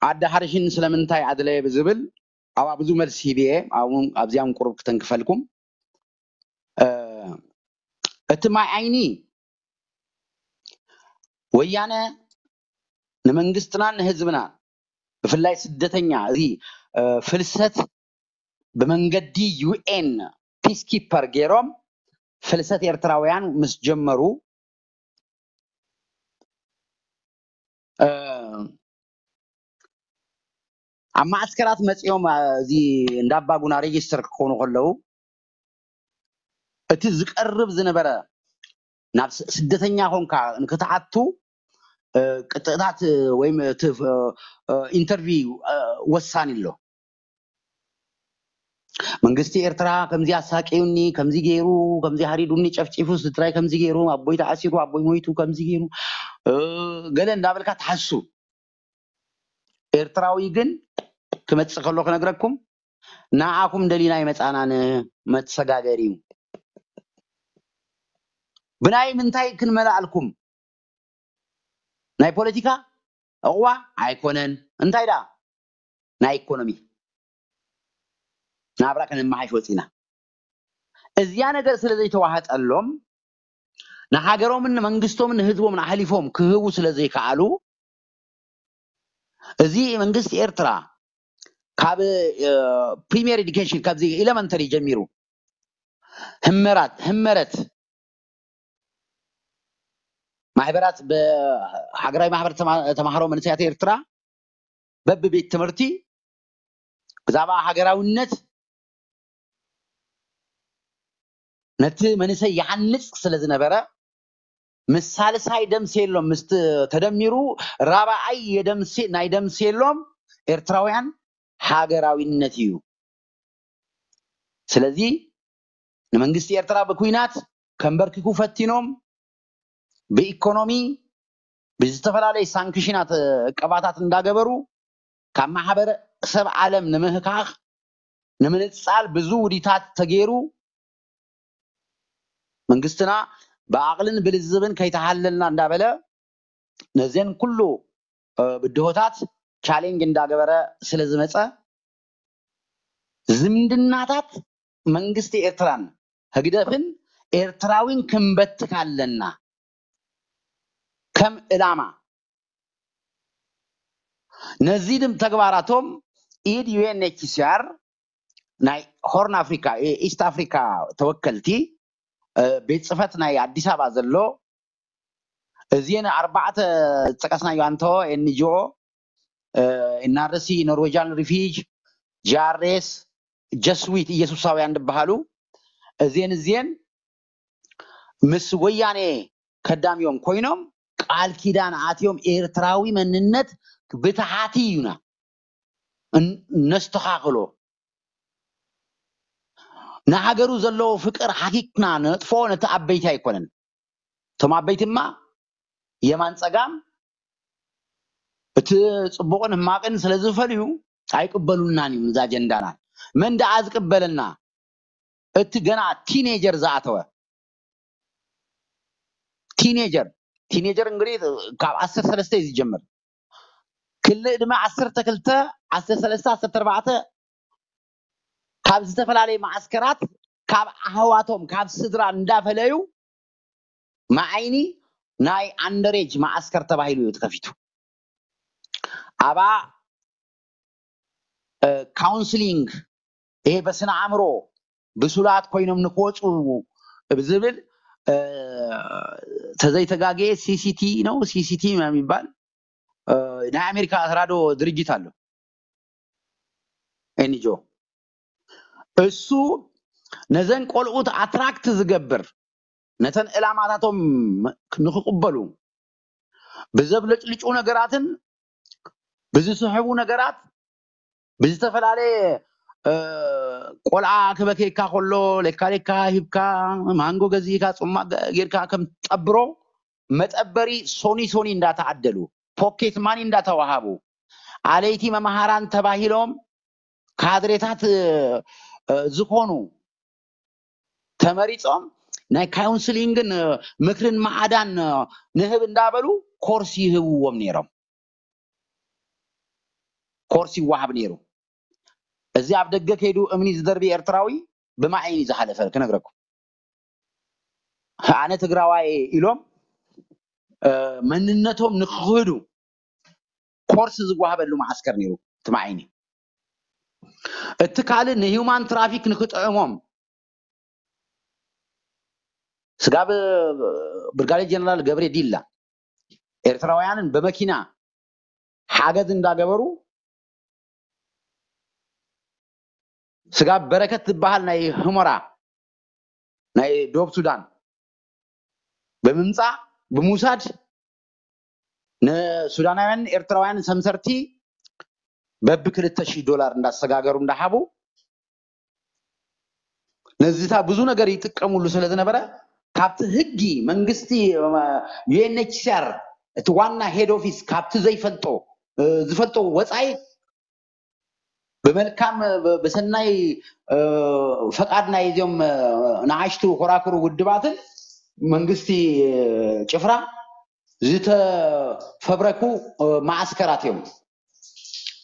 ኣዲ ሓርሽን ስለምንታይ ኣድለየ ብዝብል ኣብኣ ብዙ መልሲ ሂብየ። ኣብዚኣም ቁሩብ ክተንክፈልኩም። እ፣ እቲ ማይ ዓይኒ ወያነ ንመንግስትናን ንህዝብናን ብፍላይ ስደተኛ እዚ እ፣ ፍልሰት ብመንገዲ ዩኤን ፒስኪፐር ገይሮም ፍልሰት ኤርትራውያን ምስ ጀመሩ እ፣ ኣብ ማዕስከራት መፂኦም እ፣ እዚ እንዳባጉና ሬጅስተር ክኾኑ ከለዉ እቲ ዝቀርብ ዝነበረ ናብ ስ- ስደተኛ ኮንካ ንክትኣቱ እ፣ ቅጥዕታት እ፣ ወይም እቲ እ፣ እ፣ ኢንተርቪው እ፣ ወሳኒ ኣሎ። መንግስቲ ኤርትራ ከምዚ ኣሳቂዩኒ፣ ከምዚ ገይሩ፣ ከምዚ ሃሪዱኒ፣ ጨፍጪፉ፣ ስድራይ ከምዚ ገይሩ፣ ኣቦይ ተኣሲሩ፣ ኣቦይ ሞይቱ፣ ከምዚ ገይሩ እ፣ ገለ እንዳበልካ ትሓሱ። ኤርትራዊ ግን ክመጽእ ከሎ ክነግረኩም፣ ንዓኹም ደሊና ይመጻናን መተሰጋገሪ እዩ። ብናይ ምንታይ ክንመላኣልኩም? ናይ ፖለቲካ ዕቑባ ኣይኮነን። እንታይ ደኣ? ናይ ኢኮኖሚ ናብራ ከነመሓይሽ ወፂና። እዚኣ ነገር ስለ ዘይተዋህጠሎም ንሃገሮምን ንመንግስቶምን ንህዝቦምን ኣሕሊፎም ክህቡ ስለ ዘይከኣሉ እዚ መንግስቲ ኤርትራ ካብ ፕሪሚየር ኤዱኬሽን ካብዚ ኤሌመንተሪ ጀሚሩ ህመራት ህመረት ማሕበራት ብሃገራዊ ማሕበር ተማ- ተማሃሮ መንእሰያት ኤርትራ በብቤት ትምህርቲ ብዛዕባ ሃገራውነት ነቲ መንእሰይ ይሃንጽ ስለ ዝነበረ ምስ ሳልሳይ ደምሴሎም ምስ ተ- ተደሚሩ ራብዓይ የደምሴ ናይ ደምሴሎም ኤርትራውያን ሃገራዊነት እዩ። ስለዚ ንመንግስቲ ኤርትራ ብኩናት ከንበርክኩ ፈቲኖም ብኢኮኖሚ ብዝተፈላለየ ሳንክሽናት እቀባታት እንዳገበሩ ካብ ማሕበረሰብ ዓለም ንምህካኽ ንምንጻል ብዙ ውዲታት ተገይሩ መንግስትና ብዓቕልን ብልዝብን ከይተሃለልና እንዳበለ ነዘን ኩሉ ብድሆታት ቻሌንጅ እንዳገበረ ስለ ዝመፀ ዝምድናታት መንግስቲ ኤርትራን ህግደፍን ኤርትራዊን ክንበትክ ኣለና ከም ዕላማ። ነዚ ድም ተግባራቶም ኢድ ዩኤንኤችሲኣር ናይ ሆርን ኣፍሪካ ኢስት ኣፍሪካ ተወከልቲ ቤት ፅፈት ናይ ኣዲስ ኣበባ ዘሎ እዚን ኣርባዕተ ዝጠቀስናዮ ኣንተዎ ኤንጂኦ ኤንኣርሲ ኖርዌጃን ሪፊጅ ጂኣርኤስ ጀስዊት ኢየሱሳውያን ዝበሃሉ እዚን እዚን ምስ ወያኔ ከዳሚዮም ኮይኖም ቃል ኪዳን ኣትዮም ኤርትራዊ መንነት ብትሓቲ እዩና ነስተኻኽሎ ንሃገሩ ዘለዎ ፍቅር ሓኪክና ነጥፎ ነቲ ኣበይቲ ኣይኮነን እቶም ኣበይቲ ድማ የማን ፀጋም እቲ ፅቡቅን ህማቅን ስለ ዝፈልዩ ኣይቅበሉናን እዩ እዚ ኣጀንዳና መን ደኣ ዝቅበለና እቲ ገና ቲኔጀር ዝኣተወ ቲኔጀር ቲኔጀር እንግዲህ ካብ ዓሰርተ ሰለስተ እዩ ዝጀምር ክልእ ድማ ዓሰርተ ክልተ ዓሰርተ ሰለስተ ዓሰርተ ኣርባዕተ ካብ ዝተፈላለየ ማዓስከራት ካብ ኣህዋቶም ካብ ስድራ እንዳፈለዩ መዓይኒ ናይ ኣንደሬጅ ማዓስከር ተባሂሉ እዩ ተከፊቱ ኣባ ካውንስሊንግ ይሄ በስነ ኣእምሮ ብሱላት ኮይኖም ንክወፁ ብዝብል ተዘይተጋግየ ሲሲቲ ነው ሲሲቲ የሚባል ናይ ኣሜሪካ ተራዶ ድርጅት ኣሎ ኤንጆ እሱ ነዘን ቆልዑት ኣትራክት ዝገብር ነተን ዕላማታቶም ንክቅበሉ ብዘብለጭልጩ ነገራትን ብዝስሕቡ ነገራት ብዝተፈላለየ ቆልዓ ክበከየካ ከሎ ሌካ ሌካ ሂብካ ማንጎ ገዚእካ ፅማቅ ጌርካ ከም ጠብሮ መጠበሪ ሶኒ ሶኒ እንዳተዓደሉ ፖኬት ማኒ እንዳተዋሃቡ ኣለይቲ መምሃራን ተባሂሎም ካድሬታት ዝኾኑ ተመሪፆም ናይ ካውንስሊንግን ምክርን ማዓዳን ንህብ እንዳበሉ ኮርስ ይህብዎም ነይሮም ኮርስ ይወሃብ ነይሩ እዚ ኣብ ደገ ከይዱ እምኒ ዝደርቢ ኤርትራዊ ብማይ እዩ ዝሓለፈ ክነግረኩም ኣነ ትግራዋይ ኢሎም መንነቶም ንክክህዱ ኮርስ ዝወሃበሉ ማዓስከር ነይሩ ትማዓይኒ እቲ ካልእ ንሂውማን ትራፊክ ንክጥዕሞም ስጋብ ብርጋዴር ጀነራል ገብሬ ዲላ ኤርትራውያንን በመኪና ሓገዝ እንዳገበሩ ስጋብ በረከት ዝበሃል ናይ ህሞራ ናይ ዶብ ሱዳን ብምምፃእ ብምውሳድ ንሱዳናውያን ኤርትራውያን ሰምሰርቲ በቢ ክልተ ሺህ ዶላር እንዳሰጋገሩ እንዳሃቡ ነዚታ ብዙ ነገር ይጥቀሙሉ ስለ ዝነበረ ካብቲ ህጊ መንግስቲ ዩኤንኤችሲኣር እቲ ዋና ሄድ ኦፊስ ካብቲ ዘይፈልጦ ዝፈልጦ ወፃኢ ብመልካም ብሰናይ ፈቃድ ናይ እዚኦም ንኣሽቱ ኮራክሩ ውድባትን መንግስቲ ጭፍራ ዝተፈብረኩ ማዓስከራት እዮም።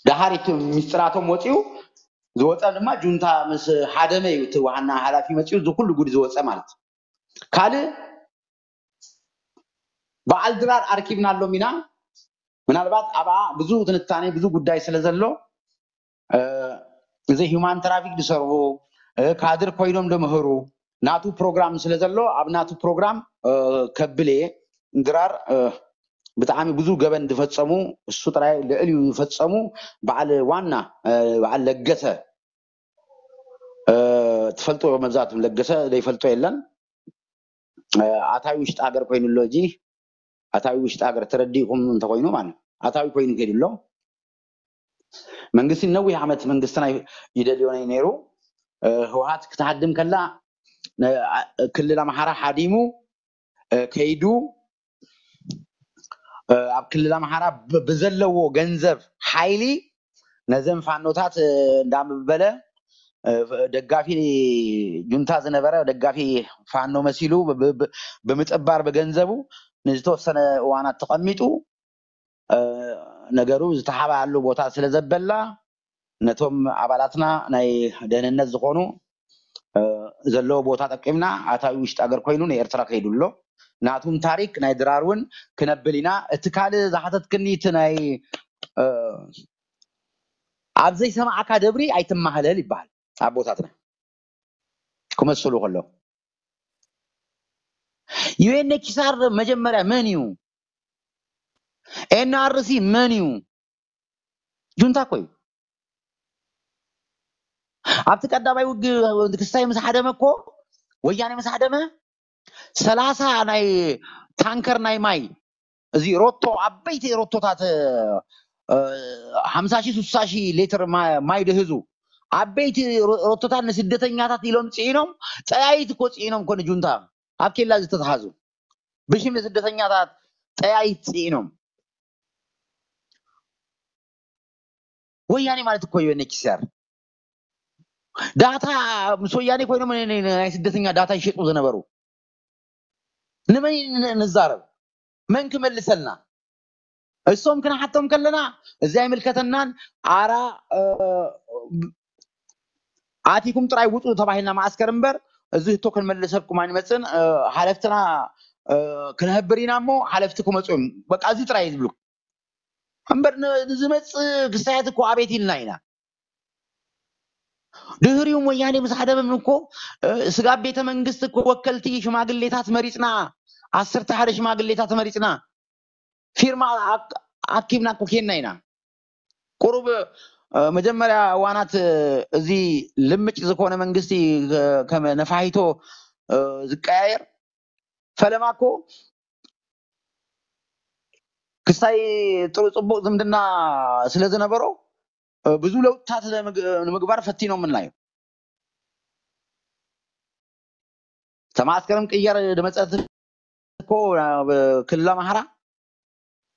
ደሃር እቲ ሚስጥራቶም ወፂኡ ዝወፀ ድማ ጁንታ ምስ ሓደመ እዩ እቲ ዋና ሓላፊ መፂኡ እዚ ኩሉ ጉድ ዝወፀ ማለት እዩ። ካልእ በዓል ድራር ኣርኪብናሎም ኢና። ምናልባት ኣብኣ ብዙ ትንታኔ ብዙ ጉዳይ ስለ ዘሎ እዚ ሂውማን ትራፊክ ዝሰርሑ ካድር ኮይኖም ዝምህሩ ናቱ ፕሮግራም ስለ ዘሎ ኣብ ናቱ ፕሮግራም ከብል እየ። ድራር ብጣዕሚ ብዙ ገበን ዝፈፀሙ እሱ ጥራይ ልዕል እዩ ዝፈፀሙ በዓል ዋና በዓል ለገሰ ትፈልጡ መብዛሕትኩም ለገሰ ዘይፈልጦ የለን። ኣታዊ ውሽጢ ሃገር ኮይኑ ኣሎ። እዚ ኣታዊ ውሽጢ ሃገር ተረዲእኩም እንተኮይኑ ማለት ኣታዊ ኮይኑ ከይዱ ኣሎ። መንግስቲ ነዊሕ ዓመት መንግስትና ይደልዮ ነይሩ። ህወሓት ክትሃድም ከላ ክልል ኣምሓራ ሓዲሙ ከይዱ ኣብ ክልል ኣምሓራ ብዘለዎ ገንዘብ ሓይሊ ነዘን ፋኖታት እንዳበለ ደጋፊ ጁንታ ዝነበረ ደጋፊ ፋኖ መሲሉ ብምጥባር ብገንዘቡ ንዝተወሰነ እዋናት ተቐሚጡ ነገሩ ዝተሓባኣሉ ቦታ ስለ ዘበላ ነቶም ኣባላትና ናይ ደህንነት ዝኾኑ ዘለዎ ቦታ ጠቂምና ኣታዊ ውሽጢ ኣገር ኮይኑ ንኤርትራ ከይዱ ኣሎ። ናቱም ታሪክ ናይ ድራር እውን ክነብል ኢና። እቲ ካልእ ዝሓተትክኒ እቲ ናይ ኣብ ዘይሰማዕካ ደብሪ ኣይትማሃለል ይበሃል ኣቦታትና ክመስሉ ከሎ። ዩኤንኤችሲኣር መጀመርያ መን እዩ? ኤንኣርሲ መን እዩ? ጁንታ እኮ እዩ። ኣብቲ ቀዳማይ ውግ ክስታይ ምስ ሓደመ እኮ ወያኔ ምስ ሓደመ ሰላሳ ናይ ታንከር ናይ ማይ እዚ ሮቶ ዓበይቲ ሮቶታት ሓምሳ ሺህ ስሳ ሺህ ሌትር ማይ ድህዙ ዓበይቲ ሮቶታት ንስደተኛታት ኢሎም ፅዒኖም ጠያይት እኮ ፅዒኖም እኮ ንጁንታ ኣብ ኬላ ዝተትሓዙ ብሽም ንስደተኛታት ጠያይት ፅዒኖም ወያኔ ማለት እኮ እዩ ኤንኤችሲኣር ዳታ ምስ ወያኔ ኮይኖም ናይ ስደተኛ ዳታ ይሸጡ ዝነበሩ ንመን ንዛረብ መን ክመልሰልና እሶም ክንሓቶም ከለና እዚ ኣይምልከተናን ኣራ ኣቲኩም ጥራይ ውፁ ተባሂልና ማዓስከር እምበር እዚ ህቶ ክንመልሰልኩም ኣይንመፅን ሓለፍትና ክንህብር ኢና እሞ ሓለፍቲ ክመፁ እዮም በቃ እዚ ጥራይ ዝብሉ እምበር ንዝመፅእ ክስታያት እኮ ኣቤት ኢልና ኢና ድህሪኡ ወያኔ ምስ ሓደመም እኮ ስጋብ ቤተ መንግስቲ እኮ ወከልቲ ሽማግሌታት መሪፅና ዓሰርተ ሓደ ሽማግሌታት መሪፅና ፊርማ ኣኪብና እኮ ኬንና ኢና ቁሩብ መጀመርያ እዋናት እዚ ልምጭ ዝኾነ መንግስቲ ከም ነፋሂቶ ዝቀያየር ፈለማ እኮ ክሳይ ጥሩ ፅቡቅ ዝምድና ስለ ዝነበሮ ብዙ ለውጥታት ንምግባር ፈቲኖምና እዩ ተማስከርም ቅየር ድመፀት እኮ ክልል ኣምሓራ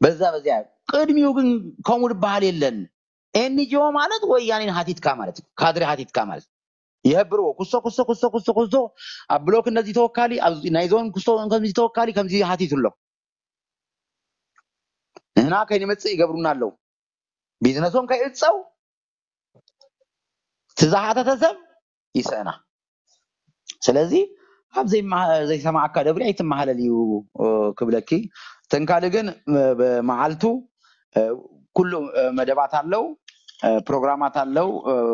በዛ በዚያ ቅድሚኡ ግን ከምኡ ዝበሃል የለን ኤንጂኦ ማለት ወያኔን ሃቲትካ ማለት እዩ ካድሬ ሃቲትካ ማለት ይህብርዎ ኩሶ ኩሶ ኩሶ ኩሶ ኩሶ ኣብ ብሎክ እነዚህ ተወካሊ ናይ ዞን ኩሶ ከምዚ ተወካሊ ከምዚ ሃቲቱ ኣሎ ንህና ከይንመፅእ ይገብሩና ኣለዉ ቢዝነሶም ከይእፀው እቲ ዝሓተተ ሰብ ይስእና ስለዚ ኣብ ዘይሰማዕካ ደብሪ ኣይትመሃለል እዩ ክብለኪ ተንካሊ ግን መዓልቱ ኩሉ መደባት ኣለው ፕሮግራማት ኣለው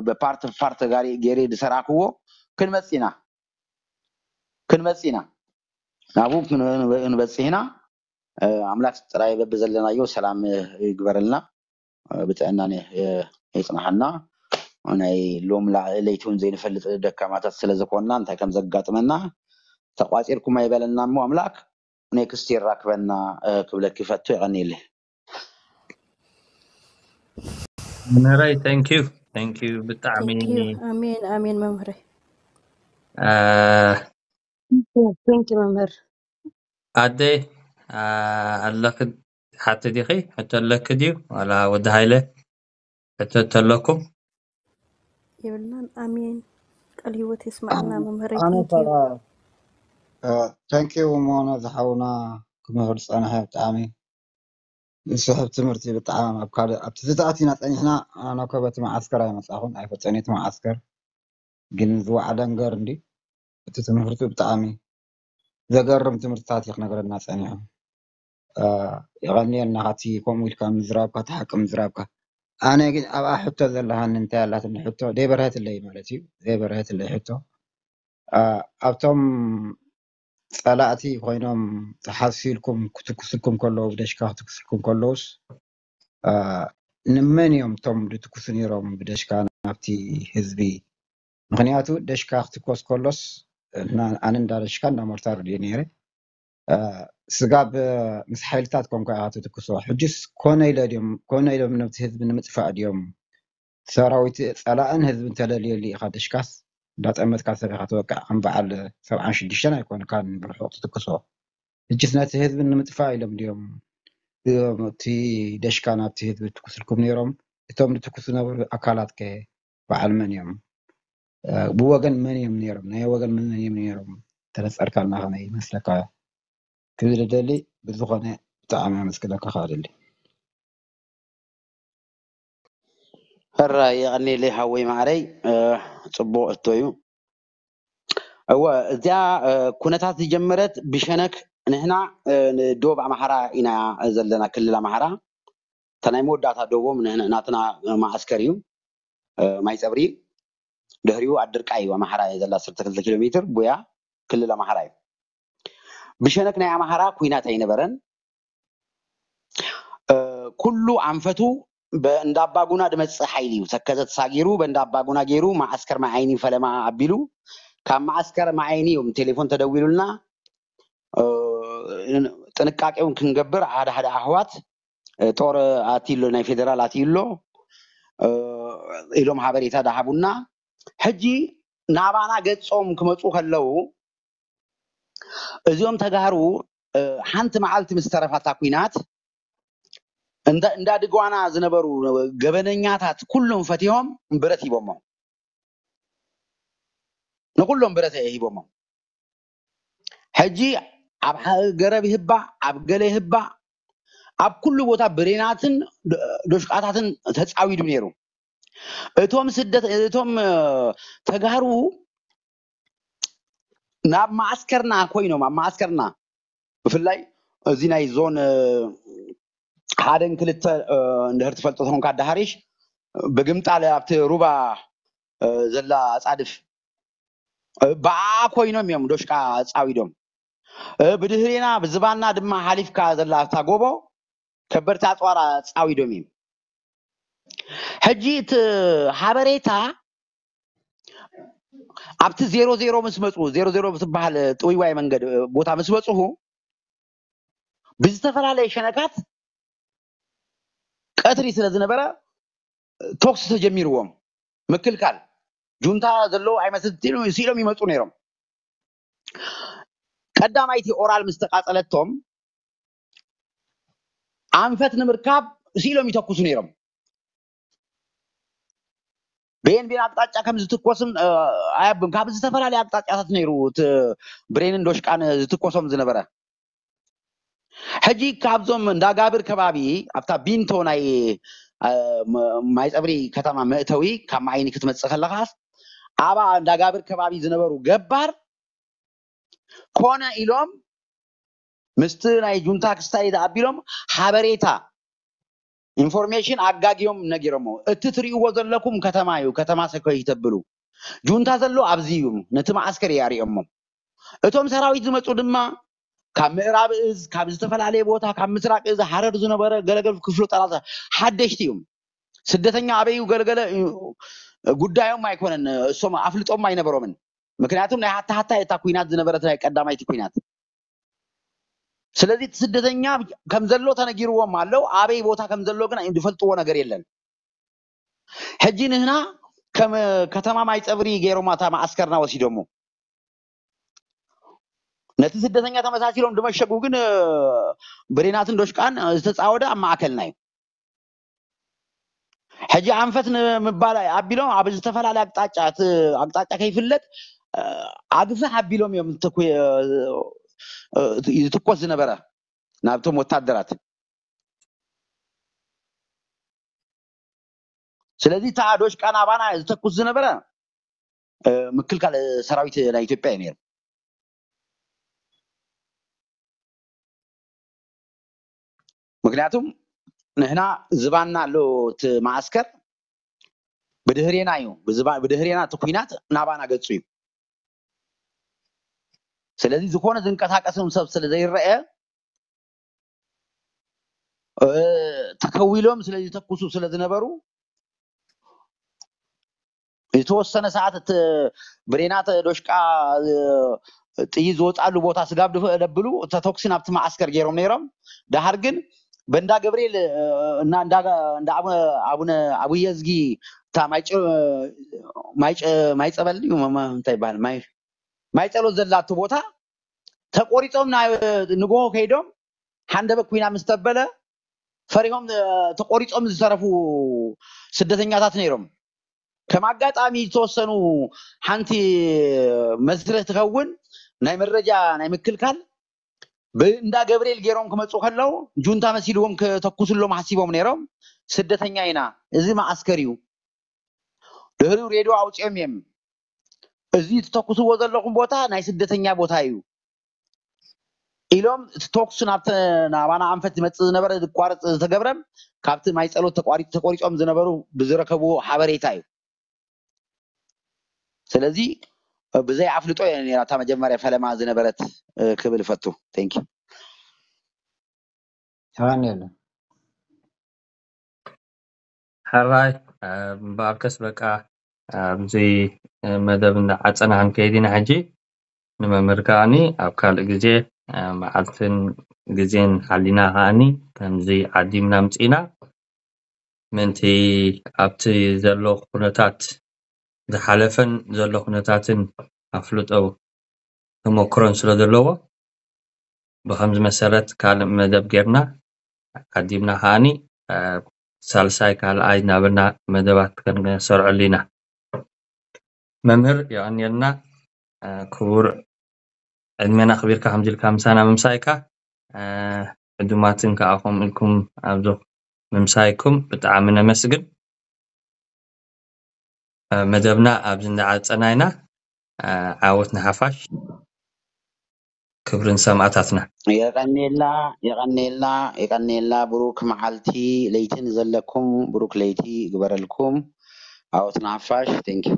ብፓርት ፓርት ጋሪ ገይረ ዝሰራክዎ ክንመፅ ኢና ክንመፅ ኢና ናብኡ ክንበፅሕ ኢና ኣምላክ ጥራይ በብዘለናዮ ሰላም ይግበረልና ብጥዕና የፅናሓና ናይ ሎም ለይቲ እውን ዘይንፈልጥ ደካማታት ስለ ዝኾንና እንታይ ከም ዘጋጥመና ተቋፂርኩም ኣይበለና እሞ ኣምላክ ኔክስት የራክበና ክብለኪ ፈቱ የቐኒለ መምህረይ thank you thank you ብጣዕሚ ኣሜን ኣሜን መምህረይ thank you መምህር ኣደይ ኣለኺ ሓቲ ዲኺ ሕቶ ኣለኪ ድዩ ዋላ ወዲ ሃይለ ሕቶ ተለኩም የብልናን ኣሜን ቃል ህይወት የስማዕና መምህረይ thank you እሞ ነዚ ሓውና ክምህር ዝፀንሐ ብጣዕሚ ዝስሕብ ትምህርቲ ብጣዕሚ ኣብ ካልእ ኣብቲ ዝተኣቲና ፀኒሕና ኣነ ኮ በቲ መዓስከር ኣይመፃኹን ኣይፈፀኒ እቲ መዓስከር ግን ዝወዓ ደንገር እንዲ እቲ ትምህርቲ ብጣዕሚ ዘገርም ትምህርትታት እዩ ክነግረና ፀኒሑ የቐንየልና ካቲ ከምኡ ኢልካ ምዝራብካ እቲ ሓቂ ምዝራብካ ኣነ ግን ኣብኣ ሕቶ ዘለሃኒ እንታይ ኣላትኒ ሕቶ ዘይበርሀትለይ ማለት እዩ ዘይበርሀትለይ ሕቶ ኣብቶም ፀላእቲ ኮይኖም ተሓሲልኩም ክትኩስልኩም ከለዉ ብደሽካ ክትኩስልኩም ከለዉስ ንመን እዮም እቶም ዝትኩሱ ነይሮም ብደሽካ ናብቲ ህዝቢ ምኽንያቱ ደሽካ ክትኮስ ከሎስ ኣነ እንዳ ደሽካ እንዳ ሞርታር ድየ ነይረ። ስጋብ ምስ ሓይልታት ኮንካ ኢኻ ትትክሶ። ሕጅስ ኮነ ኢለ ድዮም ኮነ ኢሎም ነብቲ ህዝቢ ንምጥፋእ ድዮም? ሰራዊት ጸላእን ህዝብን ተለልየሉ ኢኻ ደሽካስ እንዳጠመትካ ሰብ ኢኻ ትወቅዕ። ከም በዓል ሰብዓን ሽዱሽተን ኣይኮንካን ብርሑቕ ትትክሶ። ሕጅስ ነቲ ህዝቢ ንምጥፋእ ኢሎም ድዮም እቲ ደሽካ ናብቲ ህዝቢ ትኩስልኩም ነይሮም? እቶም ዝትኩሱ ዝነበሩ ኣካላት ከ በዓል መን እዮም? ብወገን መን እዮም ነይሮም? ናይ ወገን መን እዮም ነይሮም? ተነጸርካልና ከመይ ይመስለካ? ክብል ደሊ ብዝኾነ ብጣዕሚ ኣመስግነካ ከኣ ደሊ። ሕራይ የቐኒለይ ሓወይ ማዕረይ። ጽቡቕ እቶ እዩ። እወ፣ እዚኣ ኩነታት ዝጀመረት ብሸነክ ንሕና ዶብ ኣምሓራ ኢና ዘለና፣ ክልል ኣምሓራ። እታ ናይ መወዳእታ ዶቦም ናትና ማዓስከር እዩ። ማይ ጸብሪ ድሕሪኡ ኣድርቃይ እዩ ኣምሓራ እየ ዘላ ዓሰርተ ክልተ ኪሎ ሜትር ቡያ ክልል ኣምሓራ እዩ። ብሸነክ ናይ ኣምሓራ ኩናት ኣይነበረን። ኩሉ ኣንፈቱ በእንዳባጉና ድመፅእ ሓይሊ እዩ። ተከዘ ተሳጊሩ በእንዳባጉና ገይሩ ማዓስከር ማዓይኒ ፈለማ ኣቢሉ ካብ ማዓስከር ማዓይኒ እዮም ቴሌፎን ተደዊሉልና ጥንቃቄውን ክንገብር ሓደ ሓደ ኣሕዋት ጦር ኣትዩ ኣሎ ናይ ፌደራል ኣትዩ ኣሎ ኢሎም ሓበሬታ ዳሃቡና። ሕጂ ናባና ገጾም ክመፁ ከለው እዚኦም ተጋሩ ሓንቲ መዓልቲ ምስ ተረፋታ ኩናት እንዳ ድጓና ዝነበሩ ገበነኛታት ኩሎም ፈቲሆም ብረት ሂቦሞም፣ ንኩሎም ብረት ሂቦሞም። ሕጂ ኣብ ገረብ ይህባ ኣብ ገለ ይህባ ኣብ ኩሉ ቦታ ብሬናትን ዶሽቃታትን ተፃዊዱ ነይሩ። እቶም ስደት እቶም ተጋሩ ናብ ማዓስከርና ኮይኖም ኣብ ማዓስከርና ብፍላይ እዚ ናይ ዞን ሓደን ክልተ እንድሕር ትፈልጦ ተኾንካ ኣዳሃሪሽ ብግምጣል ኣብቲ ሩባ ዘላ ኣፃድፍ ብኣ ኮይኖም እዮም ዶሽቃ ፃዊዶም። ብድህሬና ብዝባና ድማ ሓሊፍካ ዘላ ኣብታ ጎቦ ከበድቲ ኣፅዋራ ፃዊዶም እዮም። ሕጂ እቲ ሓበሬታ ኣብቲ ዜሮ ዜሮ ምስ መፁ ዜሮ ዜሮ ብትበሃል ጥውይዋይ መንገድ ቦታ ምስ በፅሁ ብዝተፈላለየ ሸነካት ቀትሪ ስለ ዝነበረ ቶክሲ ተጀሚርዎም ምክልካል ጁንታ ዘለዉ ኣይመስል ስኢሎም ይመፁ ነይሮም። ቀዳማይቲ ኦራል ምስ ተቃፀለቶም ኣንፈት ንምርካብ ስኢሎም ይተኩሱ ነይሮም። ቤን ቤን ኣቅጣጫ ከም ዝትኮስን ኣያብም ካብ ዝተፈላለየ ኣቅጣጫታት ነይሩ እቲ ብሬንን ዶሽቃን ዝትኮሶም ዝነበረ። ሕጂ ካብዞም እንዳጋብር ከባቢ ኣብታ ቢንቶ ናይ ማይፀብሪ ከተማ መእተዊ ካብ ማዓይኒ ክትመፅእ ከለኻስ ኣባ እንዳጋብር ከባቢ ዝነበሩ ገባር ኮነ ኢሎም ምስቲ ናይ ጁንታ ክስታይ ኣቢሎም ሓበሬታ ኢንፎርሜሽን ኣጋጊዮም ነጊሮሞ። እቲ ትሪእዎ ዘለኩም ከተማ እዩ፣ ከተማ ሰኮይ ተብሉ። ጁንታ ዘሎ ኣብዚ እዩ፣ ነቲ መዓስከር እዩ ኣሪኦሞ። እቶም ሰራዊት ዝመፁ ድማ ካብ ምዕራብ እዝ ካብ ዝተፈላለየ ቦታ ካብ ምስራቅ እዝ ሓረር ዝነበረ ገለገል ክፍሉ ጠላት ሓደሽቲ እዮም። ስደተኛ ኣበይ እዩ ገለገለ ጉዳዮም ኣይኮነን፣ እሶም ኣፍልጦም ኣይነበሮምን። ምክንያቱም ናይ ሃታ ሃታ እታ ኩናት ዝነበረት ናይ ቀዳማይቲ ኩናት። ስለዚ እቲ ስደተኛ ከም ዘሎ ተነጊርዎም ኣለው፣ ኣበይ ቦታ ከም ዘሎ ግን ዝፈልጥዎ ነገር የለን። ሕጂ ንህና ከም ከተማ ማይ ፀብሪ ገይሮም እታ መዓስከርና ወሲዶሞ ነቲ ስደተኛ ተመሳሲሎም ድመሸጉ ግን ብሬናትን ዶሽቃን ዝተፃወደ ኣብ ማእከልና እዩ። ሕጂ ኣንፈት ንምባል ኣቢሎም ኣብ ዝተፈላለየ ኣቅጣጫ እቲ ኣቅጣጫ ከይፍለጥ ኣግፍሕ ኣቢሎም እዮም ዝትኮስ ዝነበረ ናብቶም ወታደራት። ስለዚ እታ ዶሽቃ ናባና ዝተኩስ ዝነበረ ምክልካል ሰራዊት ናይ ኢትዮጵያ እዩ ነይሩ። ምክንያቱም ንሕና ዝባና ኣሎ እቲ መዓስከር ብድህሬና እዩ፣ ብድህሬና እቲ ኩናት ናባና ገፁ እዩ። ስለዚ ዝኾነ ዝንቀሳቀስም ሰብ ስለ ዘይረአ ተከዊሎም ስለ ዝተኩሱ ስለ ዝነበሩ ዝተወሰነ ሰዓት እቲ ብሬናት ዶሽቃ ጥይት ዝወፃሉ ቦታ ስጋብ ደብሉ ተተኩሲ ናብቲ መዓስከር ገይሮም ነይሮም። ደሓር ግን በንዳ ገብርኤል እና እንዳ ኣቡነ ኣቡየዝጊ እታ ማይ ጸበል እዩ እንታይ ይበሃል ማይ ጸሎት ዘላቱ ቦታ ተቆሪጾም ንግሆ ከይዶም ሓንደበት ኩና ምስ ተበለ ፈሪሆም ተቆሪጾም ዝተረፉ ስደተኛታት ነይሮም። ከም ኣጋጣሚ ዝተወሰኑ ሓንቲ መስርህ ትኸውን ናይ መረጃ ናይ ምክልካል ብእንዳ ገብርኤል ገይሮም ክመፁ ከለው ጁንታ መሲልዎም ክተኩስሎም ሓሲቦም ነይሮም። ስደተኛ ኢና፣ እዚ መዓስከር እዩ። ድሕሪኡ ሬድዮ ኣውፂኦም እዮም። እዚ ትተኩስዎ ዘለኹም ቦታ ናይ ስደተኛ ቦታ እዩ ኢሎም እቲ ተኩስ ናብቲ ናባና ኣንፈት ዝመፅእ ዝነበረ ዝቋረፅ ዝተገብረም ካብቲ ማይ ፀሎት ተቋሪፆም ዝነበሩ ብዝረከብዎ ሓበሬታ እዩ። ስለዚ ብዘይ ኣፍልጦ እያ ነራ እታ መጀመርያ ፈለማ ዝነበረት ክብል ፈቱ። ቴንክ ዩ። ተዋኒሉ ሕራይ እምበኣርከስ በቃ ኣብዚ መደብ እንዳዓፀና ክንከይድ ኢና ሕጂ። ንመምህር ከዓኒ ኣብ ካልእ ግዜ መዓልትን ግዜን ሓሊና ከዓኒ ከምዚ ዓዲምና ምፅኢና ምእንቲ ኣብቲ ዘሎ ኩነታት ዝሓለፈን ዘሎ ኩነታትን ኣፍልጦ ተመክሮን ስለ ዘለዎ ብከምዚ መሰረት ካልእ መደብ ጌርና ዓዲምና ከዓኒ ሳልሳይ ካልኣይ እናበልና መደባት ክንሰርዐሉ ኢና። መምህር የቐንየልና ክቡር ዕድሜና ኣኽቢርካ ከምዚ ኢልካ ምሳና ምምሳይካ ዕዱማትን ከዓ ከምኡ ኢልኩም ኣብዚ ምምሳይኩም ብጣዕሚ ነመስግን። መደብና ኣብዚ እንዳዓፀና ኢና። ዓወት ንሓፋሽ፣ ክብሪ ንሰማእታትና። የቐኔልና የቐኔልና የቐኔልና። ብሩክ መዓልቲ ለይቲ ንዘለኩም ብሩክ ለይቲ ይግበረልኩም። ዓወት ንሓፋሽ። Thank you።